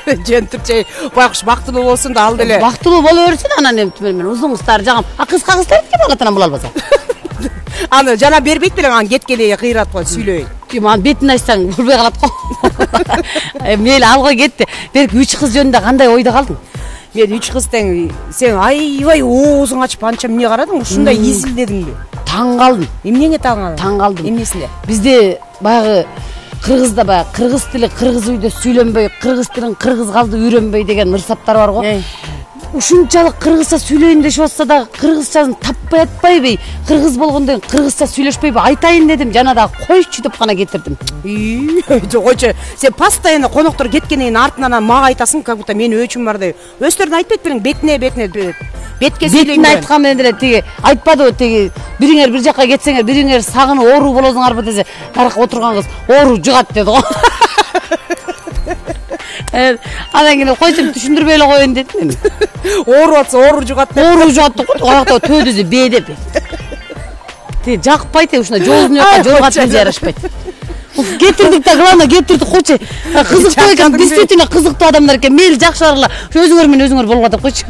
берди жөн турчу байкуш бактылуу болсун да ал деле бактылуу боло берсин анан эми тим эле мен узун кыздарды жагам а кызга кыздар эмне болот анан бул албаса аны жана бербейт белең анан кеткенде кыйратып коет сүйлөбөй ким анан бетин ачсаң көрбөй калат го мейли алгой кетти берки үч кыз жөнүндө кандай ойдо калдың мен үч кыз тең сен аябай оозуң ачып анча эмне карадың ушундай изилдедиңби таң калдым эмнеңе таң калдың таң калдым эмнесинде бизде баягы кыргызда баягы кыргыз тили кыргыз үйдө сүйлөнбөй кыргыз тилин кыргыз калды үйрөнбөй деген мырсаттар бар го ушунчалык кыргызча сүйлөйүн дешип атса дагы кыргызчасын таппай атпайбы кыргыз болгондон кийин кыргызча сүйлөшпөйбү айтайын дедим жана дагы койчу деп гана кетирдим жок койчу сен постоянно коноктор кеткенден кийин артынан мага айтасың как будто менин өчүм бар деп өздөрүн айтпайт белең бетине бетине бетке сүйлөйм бетине айткан менен деле тиги айтпадыбы тиги бириңер бир жакка кетсеңер бириңер сагынып оору болосуңарбы десе наракка отурган кыз оору жугат деди го анан кийин койсом түшүндүрбөй эле коеюн дедим эми ооруп атса оору жугат деп оору жугат деп койду аяктагы төөдүсү б деп тиги жакпайт э ушундай жоозун жака жолго атып жарашпайт кетирдик да главное кетирдик койчу кызыктуу экен действительно кызыктуу адамдар экен мейли жакшы баргыла өзүңөр менен өзүңөр болгула деп койчу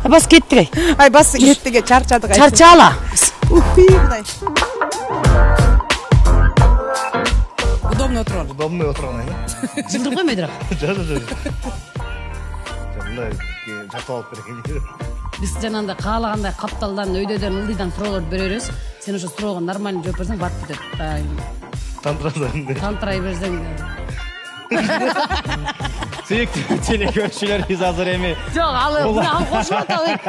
бас кеттик ай ай бас кеттик э чарчадык чарчагыла кудай удобно отуруп ал удобный отуруп алайын жылдырып коймой тура жок жок жок мындай жактап алып берейин биз жанагындай каалагандай капталдан өйдөдөн ылдыйдан суроолорду бере беребиз сен ошо суроого нормально жооп берсең батып кетет тантырасың тантырай берсең сүйүктүү телекөрүүчүлөрүбүз азыр эми жок ал ал кошуп атабык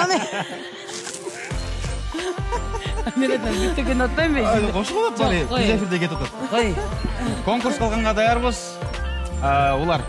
аны мен айтам бүттүкөн атпайбы кошуп атат бары биз эфирде кетип атат кой конкурс кылганга даярбыз улар